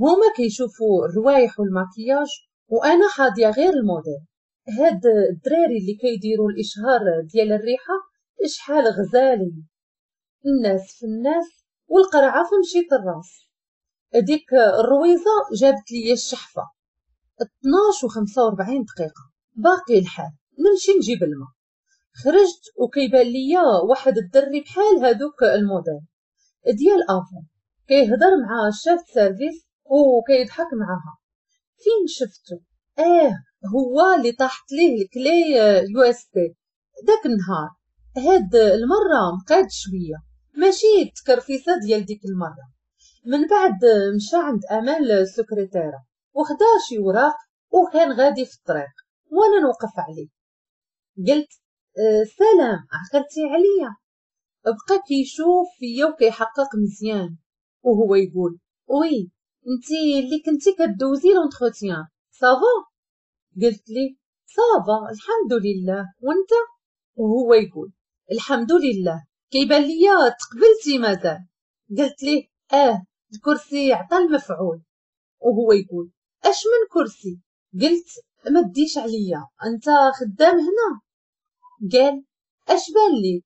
هما كيشوفوا الروايح والماكياج وانا حاضيه غير الموديل. هاد الدراري اللي كيديروا الاشهار ديال الريحة شحال غزالين، الناس في الناس والقرعه في مشيط الراس. ديك الرويزه جابت لي الشحفه 12:45 دقيقة، باقي الحال نمشي نجيب الماء. خرجت وكيبان ليا واحد الدري بحال هادوك الموديل ديال Avon كيهضر مع ال chef service وكيضحك معاها. فين شفتو؟ هو اللي طاحت ليه ال clé USB داك النهار. هاد المرة مقاد شوية، ماشي التكرفيسه ديال ديك المرة. من بعد مشى عند امال السكرتيره وخدا شي وراق وكان غادي في الطريق وانا نوقف عليه. قلت سلام، عقلتي عليا؟ بقى كيشوف فيا وكيحقق مزيان وهو يقول oui انتي اللي كنتي كدوزي l'entretien، ça va؟ قلت لي ça va الحمد لله، وانت؟ وهو يقول الحمد لله، كيبان ليا تقبلتي مازال. قلت ليه الكرسي عطى المفعول. وهو يقول اش من كرسي؟ قلت ما تديش عليا، انت خدام هنا؟ قال اش بان ليك؟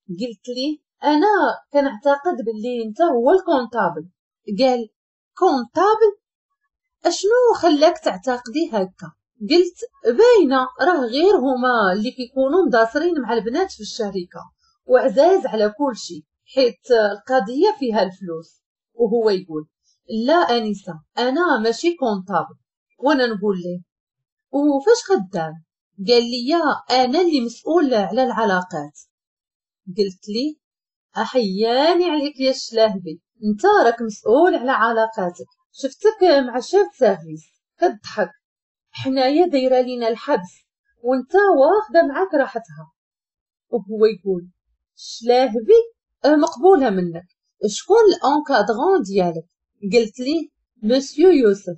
قلت ليه انا كنعتقد باللي انت هو ال comptable. قال comptable؟ اشنو خلاك تعتقدي هكا؟ قلت باينة راه غير هما اللي كيكونوا مداصرين مع البنات في الشركة وعزاز على كل شيء حيت القضية فيها الفلوس. وهو يقول لا انسه انا ماشي comptable. وانا نقول ليه وفاش خدام؟ قال لي انا اللي مسؤول على العلاقات. قلت لي احياني عليك يا الشلاهبي، انت راك مسؤول على علاقاتك، شفتك مع chef service كتضحك، حنايا دايرة لينا الحبس وانت واخده معاك راحتها. وهو يقول شلاهبي مقبولة منك، شكون ال encadrant ديالك؟ قلت ليه مسيو يوسف.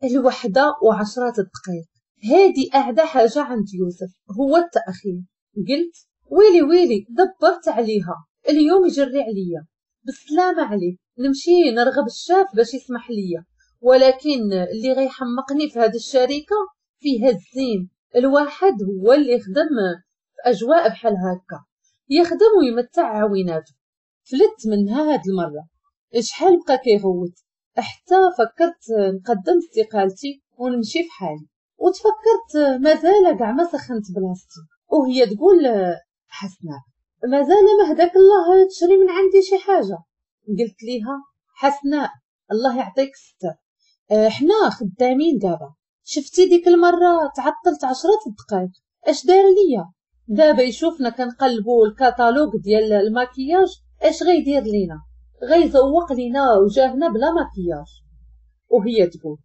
1:10 دقائق، هادي اعدى حاجة عند يوسف هو التاخير. قلت ويلي ويلي دبرت عليها، اليوم يجري عليا، بالسلامة عليه، نمشي نرغب الشاف باش يسمح ليا. ولكن اللي غيحمقني في هذه الشركة فيها الزين، الواحد هو اللي يخدم في اجواء بحال هكا، يخدم ويمتع عويناته. فلت منها هاد المرة، شحال بقى كيغوت حتى فكرت نقدم استقالتي ونمشي في حالي، وتفكرت مازال كاع ما سخنت بلاصتي. وهي تقول حسناء مازال ما هداك الله تشري من عندي شي حاجة. قلت ليها حسناء الله يعطيك الستر، حنا خدامين دابا، شفتي ديك المرة تعطلت 10 دقائق اش دار ليا؟ دابا يشوفنا كنقلبوا الكاتالوج ديال الماكياج اش غيدير لينا، غيزوق لينا وجاهنا بلا ماكياج. وهي تقول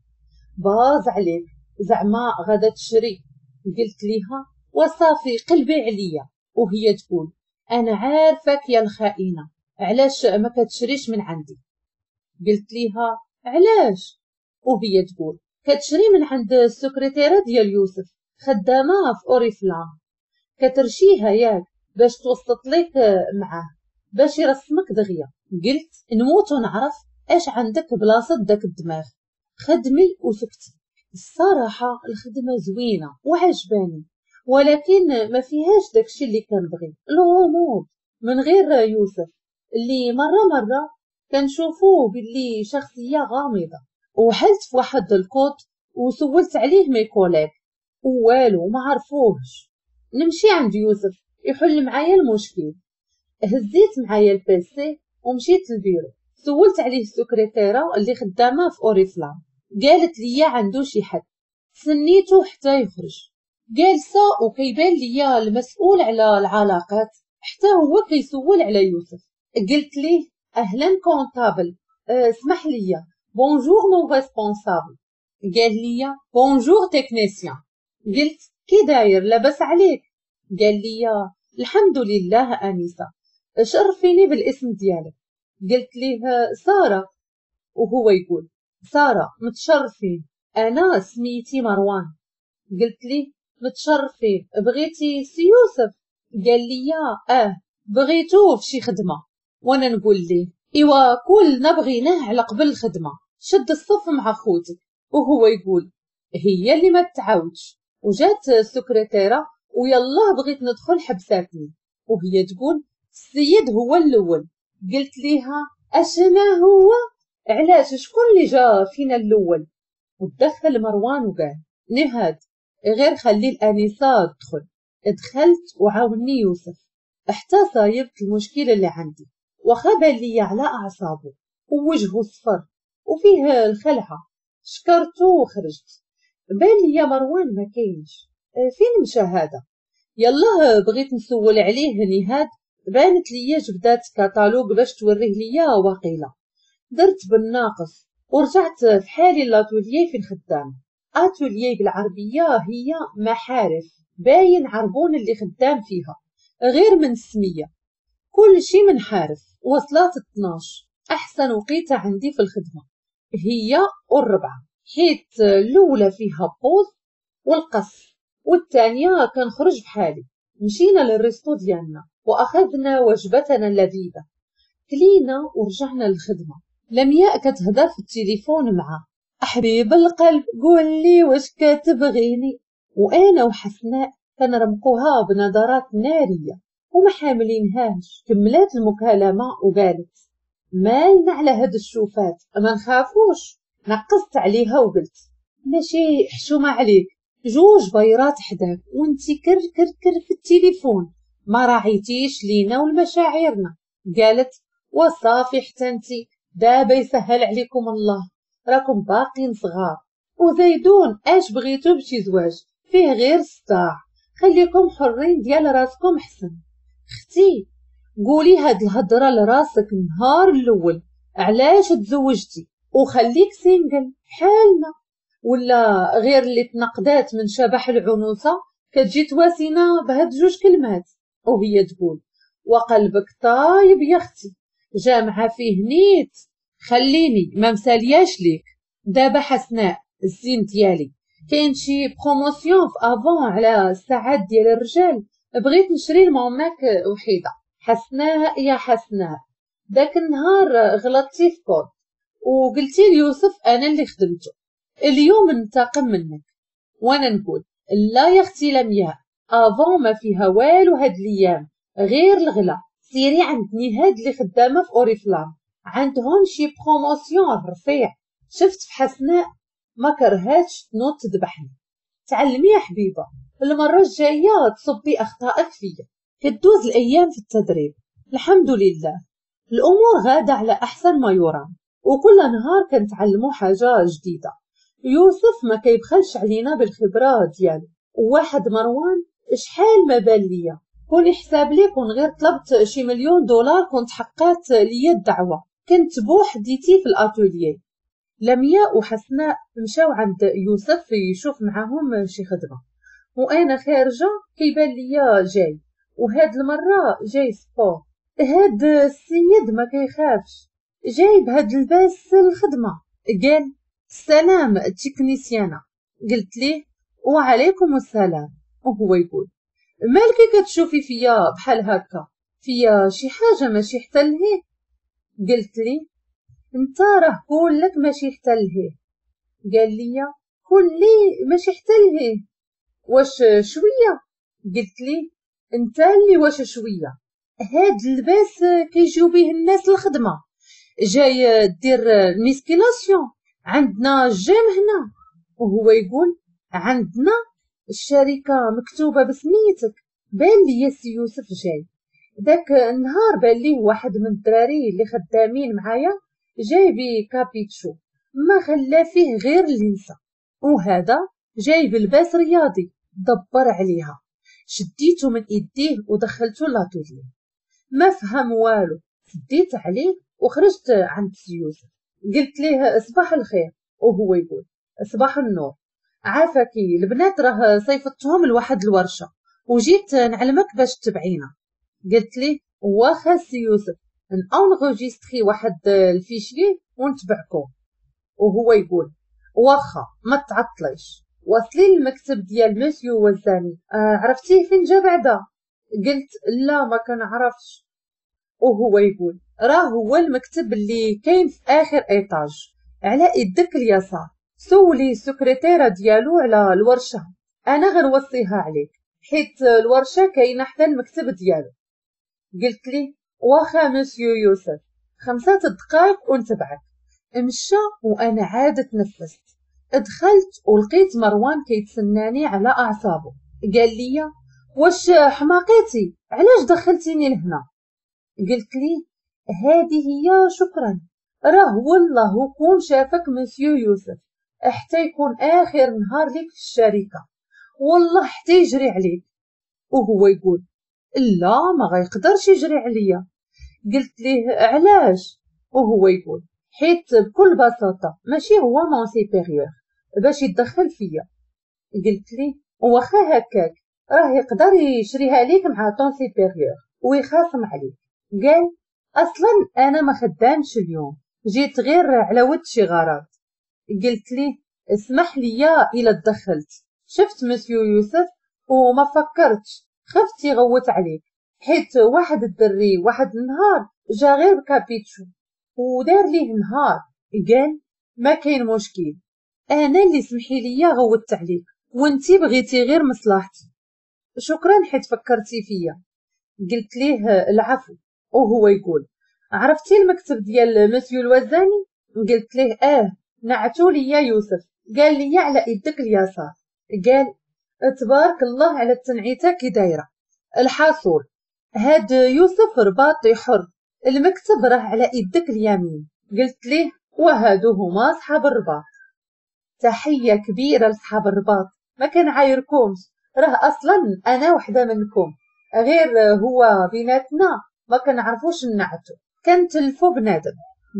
باز عليك زعما غادا تشري. قلت ليها وصافي قلبي عليا. وهي تقول انا عارفك يا الخائنه، علاش ما كتشريش من عندي؟ قلت ليها علاش؟ وهي تقول كتشري من عند السكرتيره ديال يوسف، خدامه في Oriflame، كترشيها ياك باش توسط ليك معاه باش يرسمك دغيا. قلت نموت ونعرف اش عندك بلاصة داك الدماغ، خدمي وسكتي. الصراحة الخدمة زوينة وعجباني، ولكن ما فيهاش داكشي اللي كنبغي، الغموض من غير يوسف اللي مرة مرة كنشوفوه باللي شخصية غامضة. وحلت في واحد الكوت وسولت عليه mes collègues والو ما عرفوهش. نمشي عند يوسف يحل معايا المشكل. هزيت معايا ال PC ومشيت للبيرو، سولت عليه السكرتيره اللي خدامه في Oriflame. قالت لي عنده شي حد. سنيته حتى يخرج. جالسة وكيبان ليا المسؤول على العلاقات حتى هو كيسول على يوسف. قلت ليه اهلا comptable، اسمح لي bonjour mon responsable. قال لي bonjour technicien. قلت كي داير لاباس عليك؟ قال لي الحمد لله انسه، شرفيني بالاسم ديالك. قلت ليه ساره. وهو يقول ساره متشرفين، انا سميتي مروان. قلت ليه متشرفين، بغيتي سي يوسف؟ قال لي بغيتوه في شي خدمة. وانا نقول ليه ايوا كلنا بغيناه على قبل الخدمة، شد الصف مع خوتك. وهو يقول هي اللي ما تعاودش. وجات السكرتيره ويلا بغيت ندخل حبساتني، وهي تقول السيد هو الاول. قلت ليها اشنا هو؟ علاش شكون اللي جا فينا الاول؟ ودخل مروان وقال نهاد غير خلي الانسة تدخل. دخلت وعاوني يوسف حتى صايبت المشكلة اللي عندي، واخا بان ليا على اعصابه ووجهه صفر وفيه الخلعة. شكرته وخرجت. بان ليا مروان ما كاينش، فين مشى هذا؟ يلا بغيت نسول عليه نهاد، بانت ليا جبدات كاتالوج باش توريه ليا واقيله. درت بالناقص ورجعت في حالي l'atelier فين خدام. اتوليي بالعربية هي محارف، باين عربون اللي خدام فيها غير من السمية، كل شي من حارف. وصلات 12، احسن وقيته عندي في الخدمة هي والربعه، حيت الاولى فيها pause والقص، والثانية كنخرج بحالي. مشينا لل resto ديالنا واخذنا وجبتنا اللذيذة، كلينا ورجعنا للخدمة. لمياء كتهضر في التليفون مع حبيب القلب، قول لي واش كتبغيني، وانا وحسناء كنرمقوها بنظرات نارية وما حاملينهاش. كملات المكالمة وقالت مالنا على هاد الشوفات، ما نخافوش. نقصت عليها وقلت ماشي حشومه عليك، جوج بيرات حداك وانتي كر كر كر في التليفون، ما راعيتيش لينا ولمشاعرنا. قالت وصافي حتى انتي دابا يسهل عليكم الله، راكم باقين صغار وزيدون اش بغيتو بشي زواج فيه غير صداع، خليكم حرين ديال راسكم حسن. اختي قولي هاد الهضرة لراسك النهار الاول، علاش تزوجتي وخليك single حالنا، ولا غير اللي تنقدات من شبح العنوسه كتجي تواسينا بهاد جوج كلمات. وهي تقول وقلبك طايب يا اختي، جامعه فيه نيت، خليني ما مسالياش ليك. دابا حسناء الزين ديالي كاين شي promotion في Avon على الساعات ديال الرجال، بغيت نشري لماماك وحيده. حسناء يا حسناء، داك النهار غلطتي في كود وقلتي ليوسف انا اللي خدمته، اليوم ننتقم منك. وانا نقول لا يا اختي لمياء، Avon ما فيها والو هاد الايام غير الغلا، سيري عند نهاد اللي خدامه في Oriflame عندهم شي promotion رفيع. شفت في حسناء ما كرهاتش تنوض تذبحني. تعلمي يا حبيبه، المرة الجاية تصبي اخطائك فيا. كدوز الايام في التدريب الحمد لله، الامور غاده على احسن ما يرام، وكل نهار كنتعلموا حاجة جديدة. يوسف ما كيبخلش علينا بالخبرة ديالو. وواحد مروان شحال ما بان ليا، كون يحساب لي كون غير طلبت شي $1,000,000 كنت حققت ليا الدعوة، كنت بوحديتي في الاتوليي. لمياء وحسناء مشاو عند يوسف يشوف معاهم شي خدمة، وانا خارجه كيبان ليا جاي، وهاد المرة جاي sport. هاد السيد ما كيخافش، جاي بهاد الباس الخدمة. قال السلام technicienne. قلت ليه وعليكم السلام. وهو يقول مالك كتشوفي فيا بحال هكا، فيا شي حاجة ماشي حتى لهيه؟ قلت لي انت راه كلك ماشي حتى لهيه. قال لي كلي ماشي حتى لهيه، واش شوية؟ قلت لي انت اللي واش شوية، هاد اللباس كيجيو به الناس الخدمة، جاي دير musculation عندنا جيم هنا. وهو يقول عندنا الشركة مكتوبة بسميتك. بان لي سي يوسف جاي داك النهار، بان ليه واحد من الدراري اللي خدامين معايا جاي ب capuchon، ما خلا فيه غير اللي نسى، وهذا جايب لباس رياضي دبر عليها. شديته من ايديه ودخلته l'atelier، ما فهم والو. سديت عليه وخرجت عند يوسف، قلت ليه صباح الخير، وهو يقول صباح النور. عافاكي البنات راه صيفطتهم لواحد الورشة وجيت نعلمك باش تبعينا. قلت ليه واخا سي يوسف ن enregistrer واحد ال fichier ونتبعكم. وهو يقول واخا ما تعطليش. وصلي للمكتب ديال مسيو وزاني. عرفتيه فين جا بعدا؟ قلت لا ما كنعرفش. وهو يقول راه هو المكتب اللي كاين في اخر étage على يدك اليسار، سولي السكرتيره ديالو على الورشة، انا غنوصيها عليك حيت الورشة كاينه حدا المكتب ديالو. قلت لي واخا مسيو يوسف، 5 دقائق ونتبعك. مشى وانا عاد تنفست. دخلت ولقيت مروان كيتسناني على اعصابه. قال لي واش حماقيتي، علاش دخلتيني لهنا؟ قلت لي هذه هي شكرا، راه والله كون شافك مسيو يوسف حتى يكون اخر نهار ليك في الشركة، والله حتى يجري عليك. وهو يقول لا ما غيقدرش يجري عليا. قلت ليه علاش؟ وهو يقول حيت بكل بساطة ماشي هو mon supérieur باش يتدخل فيا. قلت ليه واخا هكاك راه يقدر يشريها ليك مع ton supérieur ويخاصم عليك. قال اصلا انا ما خدامش اليوم، جيت غير على ود شي غرض. قلت ليه اسمح لي الا تدخلت، شفت مسيو يوسف وما فكرتش، خفت يغوت عليك حيت واحد الدري واحد النهار جا غير ب capuchon ودار ليه نهار. قال ما كاين مشكل، انا اللي سمحي لي غوتت عليك وانتي بغيتي غير مصلحتي، شكرا حيت فكرتي فيا. قلت ليه العفو. وهو يقول عرفتي المكتب ديال مسيو الوزاني؟ قلت ليه نعتو ليا يوسف، قال لي على يدك اليسار. قال تبارك الله على التنعيته كي دايرة. الحاصول هاد يوسف رباطي حر، المكتب راه على يدك اليمين. قلت ليه وهادو هما صحاب الرباط. تحية كبيرة لصحاب الرباط، ما كنعايركمش، راه اصلا انا وحده منكم، غير هو بيناتنا ما كنعرفوش نعتو، كنتلفو بنادم.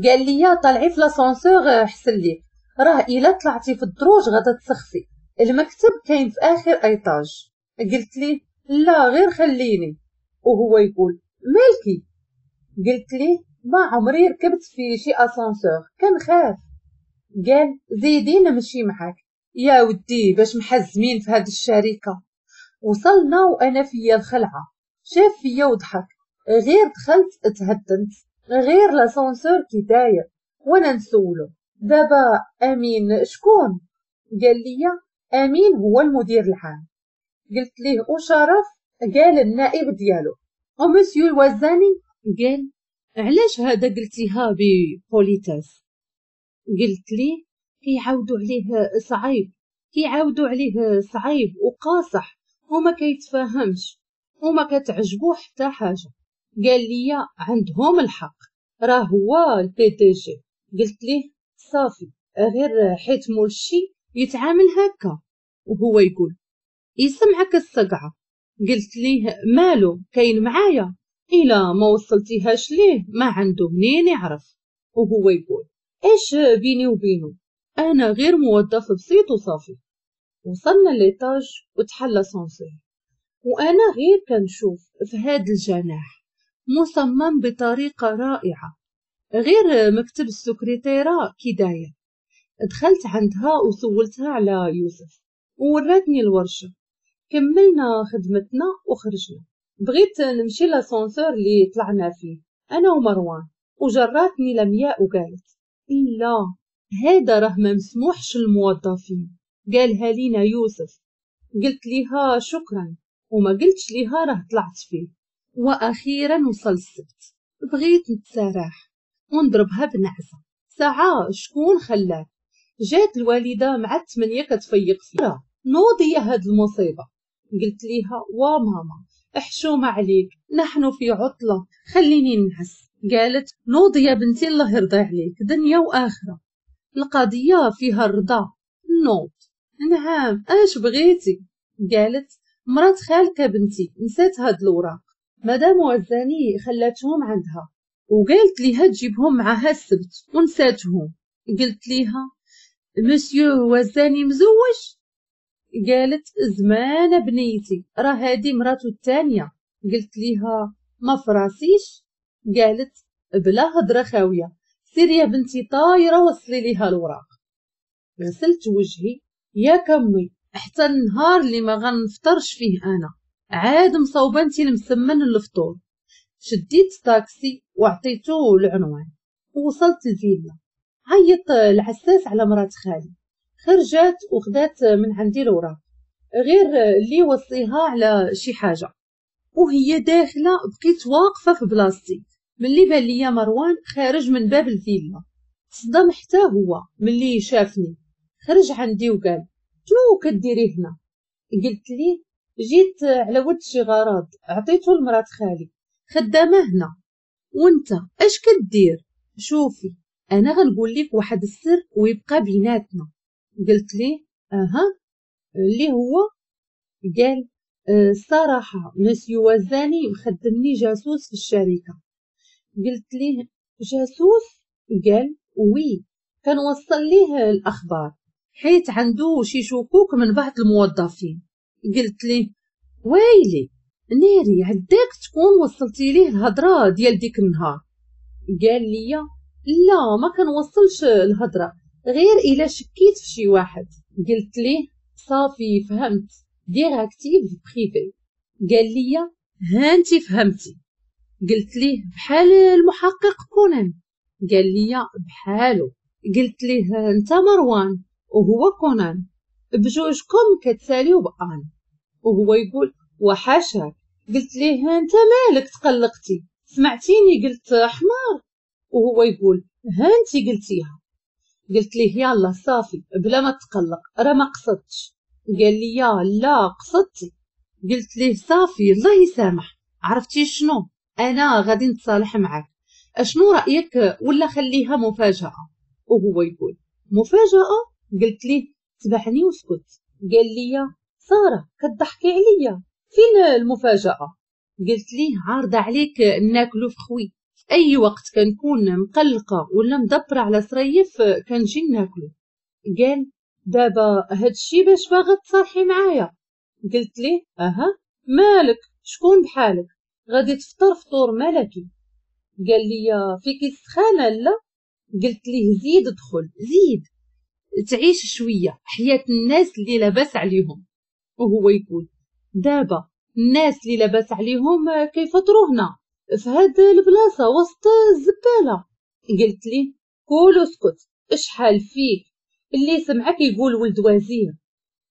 قال لي طلعي في l'ascenseur حسن ليك، راه الا طلعتي في الدروج غادا تسخفي، المكتب كاين في اخر étage. قلت ليه لا غير خليني. وهو يقول مالكي؟ قلت ليه ما عمري ركبت في شي اسانسور كنخاف. قال زيدي نمشي معاك يا ودي باش محزمين في هاد الشركة. وصلنا وانا فيا الخلعة، شاف فيا وضحك، غير دخلت تهدنت، غير l'ascenseur كي داير. وانا نسولو دابا امين شكون؟ قال لي امين هو المدير العام. قلت ليه وشرف؟ قال النائب ديالو. ومسيو الوزاني؟ قال علاش هذا قلتيها ب politesse؟ قلت ليه كيعاودوا عليه صعيب، كيعاودوا عليه صعيب وقاصح وما كيتفاهمش وما كتعجبو حتى حاجة. قال لي عندهم الحق، راه هو ال PDG. قلت ليه صافي غير حيت مول الشي يتعامل هكا. وهو يقول يسمعك الصقعه. قلت ليه مالو كاين معايا، الا ما وصلتيهاش ليه ما عنده منين يعرف. وهو يقول ايش بيني وبينه، انا غير موظف بسيط وصافي. وصلنا l'étage وتحل l'ascenseur، وانا غير كنشوف في هاد الجناح مصمم بطريقة رائعة، غير مكتب السكرتيره كي داير. دخلت عندها وسولتها على يوسف ووراتني الورشة. كملنا خدمتنا وخرجنا. بغيت نمشي l'ascenseur اللي طلعنا فيه انا ومروان، وجراتني لمياء وقالت لا هذا راه ما مسموحش للموظفين، قالها لينا يوسف. قلت ليها شكرا وما قلتش ليها راه طلعت فيه. واخيرا وصل السبت، بغيت نتسارح ونضربها بنعسه. ساعة شكون خلاك؟ جات الوالدة مع 8 كتفيق فيها، نوضي يا هاد المصيبة. قلت ليها وا ماما احشومه عليك، نحن في عطله خليني نعس. قالت نوضي يا بنتي الله يرضي عليك دنيا واخره. القضية فيها الرضا. نوض. نعم اش بغيتي؟ قالت مرات خالك بنتي نسات هاد الوراق، مدام وزاني خلاتهم عندها وقالت ليها تجيبهم معها السبت ونساتهم. قلت ليها مسيو وزاني مزوج؟ قالت زمان بنيتي، راه هادي مراتو الثانية. قلت ليها ما فراسيش. قالت بلا هضره خاوية، سيري يا بنتي طايره وصلي ليها الوراق. غسلت وجهي يا كمي حتى النهار اللي ما غنفطرش فيه انا، عاد مصوبه انتي المسمن للفطور. شديت طاكسي وعطيته العنوان ووصلت الفيلا. عيط العساس على مرات خالي، خرجت وخدات من عندي الوراق غير اللي وصيها على شي حاجة. وهي داخله بقيت واقفة في بلاصتي ملي بان ليا مروان خارج من باب الفيلا. تصدم حتى هو ملي شافني، خرج عندي وقال شنو كديري هنا؟ قلت ليه جيت على ود شي غرض عطيته لمرات خالي خدامه هنا. وانت اش كدير؟ شوفي انا غنقول لك واحد السر ويبقى بيناتنا. قلت ليه اها اللي هو؟ قال الصراحة مسيو وزاني مخدمني جاسوس في الشركة. قلت ليه جاسوس؟ قال oui، كنوصل ليه الاخبار حيت عنده شي شكوك من بعض الموظفين. قلت ليه ويلي ناري عداك تكون وصلتي ليه الهضرة ديال ديك النهار. قال لي لا ما كنوصلش الهضرة غير الا شكيت في شي واحد. قلت ليه صافي فهمت، détective privé. قال لي ها انت فهمتي. قلت ليه بحال المحقق كونان. قال لي بحالو. قلت ليه انت مروان وهو كونان، بجوجكم كتساليو بان. وهو يقول وحاشاك. قلت ليه انت مالك تقلقتي، سمعتيني قلت حمار؟ وهو يقول ها انت قلتيها. قلت ليه يلا صافي بلا ما تقلق راه ما قصدتش. قال لي لا قصدتي. قلت ليه صافي الله يسامح، عرفتي شنو انا غادي نتصالح معاك، اشنو رايك ولا خليها مفاجاة؟ وهو يقول مفاجاة؟ قلت ليه تبعني واسكت. قال لي ساره كضحكي عليا، فين المفاجاة؟ قلت ليه عارضه عليك ناكلو في خوي، في اي وقت كنكون مقلقة ولا مدبره على صريف كنجي ناكلو. قال دابا هادشي باش باغا تصالحي معايا؟ قلت ليه اها مالك شكون بحالك غادي تفطر فطور ملكي. قال لي فيك السخانه؟ لا. قلت ليه زيد ادخل زيد تعيش شوية حياة الناس اللي لاباس عليهم. وهو يقول دابا الناس اللي لاباس عليهم كيفطروا هنا في هاد البلاصة وسط الزبالة. قلت ليه كول واسكت، اشحال فيك اللي سمعك يقول ولد وزير،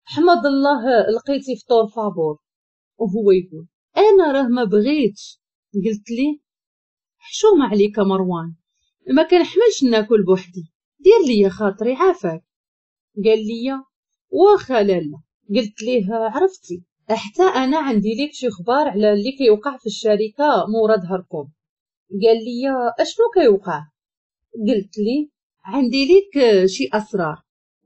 حمد الله لقيتي فطور فابور. وهو يقول انا راه ما بغيتش. قلت ليه حشومه عليك مروان، ما كنحملش ناكل بوحدي، دير لي خاطري عافاك. قال لي واخا لالا. قلت ليه عرفتي حتى انا عندي ليك شي خبار على اللي كيوقع في الشركة مورا ظهركم. قال لي اشنو كيوقع؟ قلت ليه عندي ليك شي اسرار.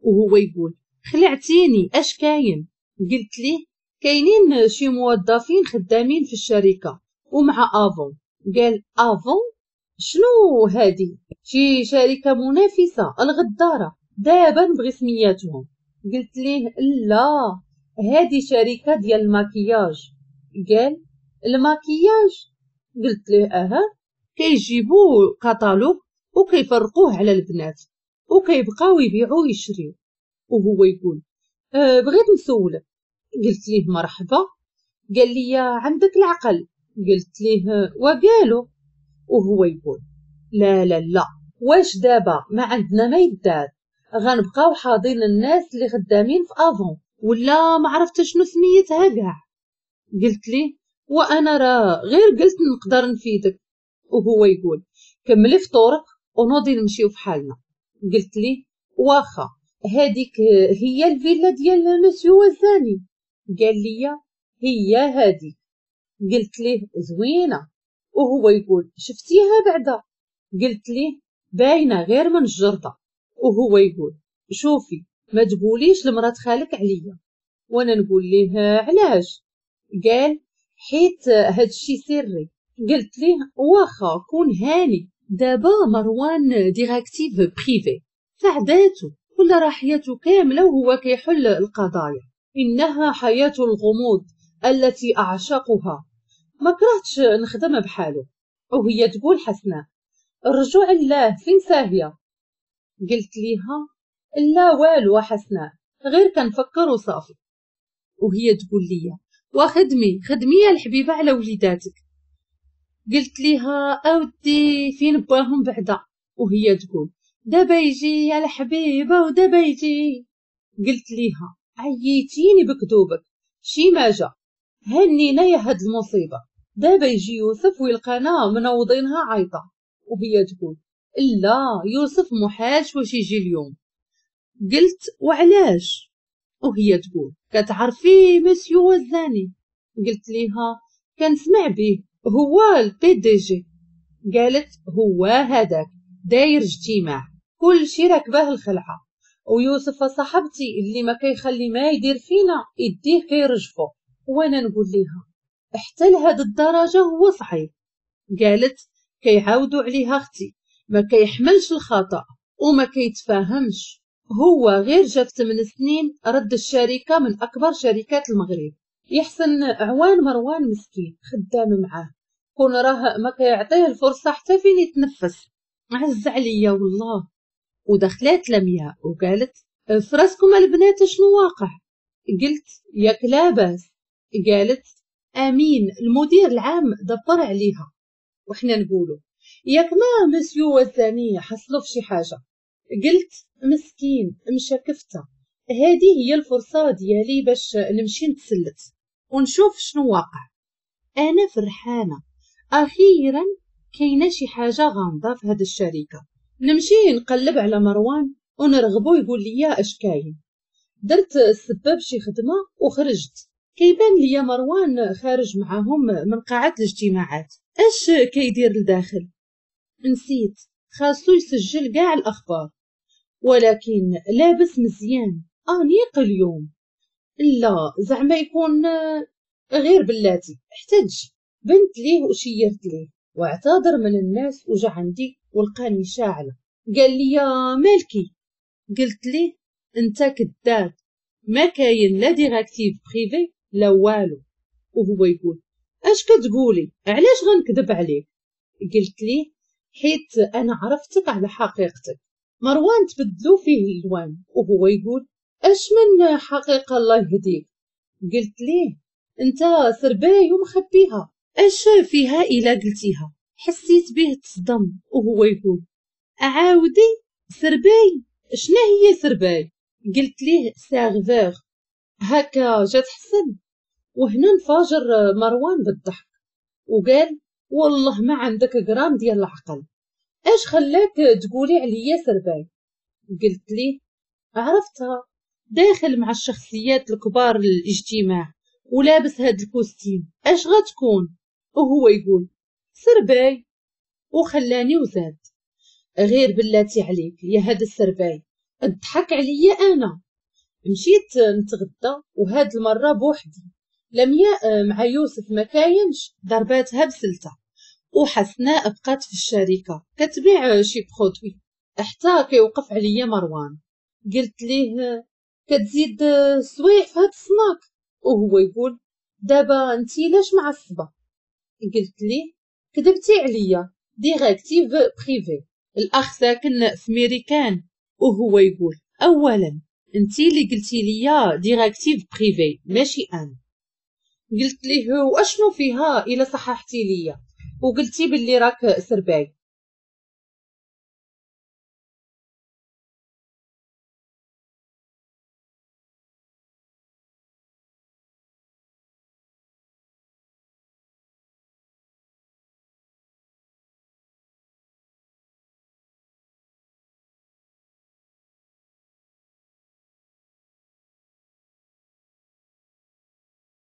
وهو يقول خلعتيني اش كاين؟ قلت ليه كاينين شي موظفين خدامين في الشركة ومع Avon. قال Avon شنو هادي؟ شي شركة منافسه الغداره، دابا نبغي سمياتهم. قلت ليه لا هادي شركة ديال الماكياج. قال الماكياج؟ قلت ليه اها، كيجيبوا كتالوج وكيفرقوه على البنات وكيبقاو يبيعوا ويشريو. وهو يقول بغيت نسولك. قلت ليه مرحبا. قال لي عندك العقل؟ قلت ليه وقالوا. وهو يقول لا لا لا، واش دابا ما عندنا ما يدار، غنبقاو حاضين الناس اللي خدامين في Avon ولا ما عرفت شنو سميتها كاع. قلت ليه وانا راه غير قلت نقدر نفيدك. وهو يقول كملي فطورك ونوضي نمشيو في حالنا. قلت ليه واخا، هذيك هي الفيلا ديال مسيو وزاني؟ قال لي هي هذيك. قلت ليه زوينة. وهو يقول شفتيها بعدا؟ قلت ليه باينة غير من الجرده. وهو يقول شوفي ما تقوليش لمرات خالك عليا. وانا نقول ليه علاش؟ قال حيت هادشي سري. قلت ليه واخا كون هاني. دابا مروان directive privée سعداتو ولا راه حياته كاملة وهو كيحل القضايا. انها حياة الغموض التي اعشقها، ما كرهتش نخدم بحالو. وهي تقول حسناء الرجوع لله فين ساهيه؟ قلت ليها لا والو حسناء، غير كنفكر وصافي. وهي تقول لي وخدمي خدمي يا الحبيبة على وليداتك. قلت ليها اودي فين باهم بعدا؟ وهي تقول دابا يجي يا الحبيبة ودابا يجي. قلت ليها عييتيني بكذوبك، شي ما جا هنينا يا هاد المصيبة، دابا يجي يوسف ويلقانا منوضينها عيطه. وهي تقول لا يوسف محالش واش يجي اليوم. قلت وعلاش؟ وهي تقول كتعرفي مسيو وزاني؟ قلت ليها كنسمع به، هو ال PDG. قالت هو هذاك داير اجتماع كل شي راكباه الخلعة، ويوسف صاحبتي اللي ما كيخلي ما يدير فينا يديه كيرجفو. وانا نقول ليها حتى لهاد الدرجة هو صعيب؟ قالت كيعاودوا عليها اختي، ما كيحملش الخطا وما كيتفاهمش، هو غير جا في 8 سنين رد الشركة من اكبر شركات المغرب. يحسن عوان مروان مسكين خدام معاه، كون راه ما كيعطيه الفرصة حتى فين يتنفس، عز عليا والله. ودخلات لمياء وقالت فراسكم البنات شنو واقع؟ قلت ياك لاباس؟ قالت امين المدير العام دبر عليها. وحنا نقولوا ياك ما مسيو وزاني حصلوا في شي حاجة. قلت مسكين مشى كفته، هذه هي الفرصة ديالي باش نمشي نتسلت ونشوف شنو واقع. انا فرحانة اخيرا كاينه شي حاجة غامضة في هذه الشركة. نمشي نقلب على مروان ونرغبو يقول لي اش كاين. درت السبب شي خدمة وخرجت، كيبان ليا مروان خارج معاهم من قاعة الاجتماعات. اش كيدير لداخل؟ نسيت خاصو يسجل كاع الاخبار، ولكن لابس مزيان انيق اليوم. لا زعما يكون غير بلاتي احتج. بنت ليه وشيرت ليه واعتذر من الناس وجا عندي ولقاني شاعله. قال لي مالكي؟ قلت ليه انت كذاب، ما كاين لا directive privée لا والو. وهو يقول اش كتقولي، علاش غنكذب عليك؟ قلت ليه حيت انا عرفتك على حقيقتك. مروان تبدلو فيه الالوان وهو يقول اش من حقيقة الله يهديك؟ قلت ليه انت سرباي ومخبيها، اش فيها الا قلتيها؟ حسيت به تصدم وهو يقول اعاودي سرباي، شنو هي سرباي؟ قلت ليه serveur، هكا جات حسن. وهنا انفجر مروان بالضحك وقال والله ما عندك غرام ديال العقل، اش خلاك تقولي عليا سرباي؟ قلت ليه عرفتها داخل مع الشخصيات الكبار للاجتماع ولابس هاد ال costume، اش غتكون؟ وهو يقول سرباي، وخلاني وزاد. غير بلاتي عليك يا هاد السرباي، اضحك عليا انا. مشيت نتغدى وهاد المرة بوحدي، لمياء مع يوسف ما كاينش، ضرباتها بسلته، وحسناء بقات في الشركة كتبيع شي produit حتى كيوقف عليا مروان. قلت ليه كتزيد سويع في هاد السناك؟ وهو يقول دابا انتي لاش معصبة؟ قلت ليه كذبتي عليا directive privée، الاخ ساكن في ميريكان. وهو يقول اولا انتي اللي قلتي ليا directive privée ماشي انا. قلت ليه واشنو فيها الا صححتي ليا وقلتي باللي راك سرباي؟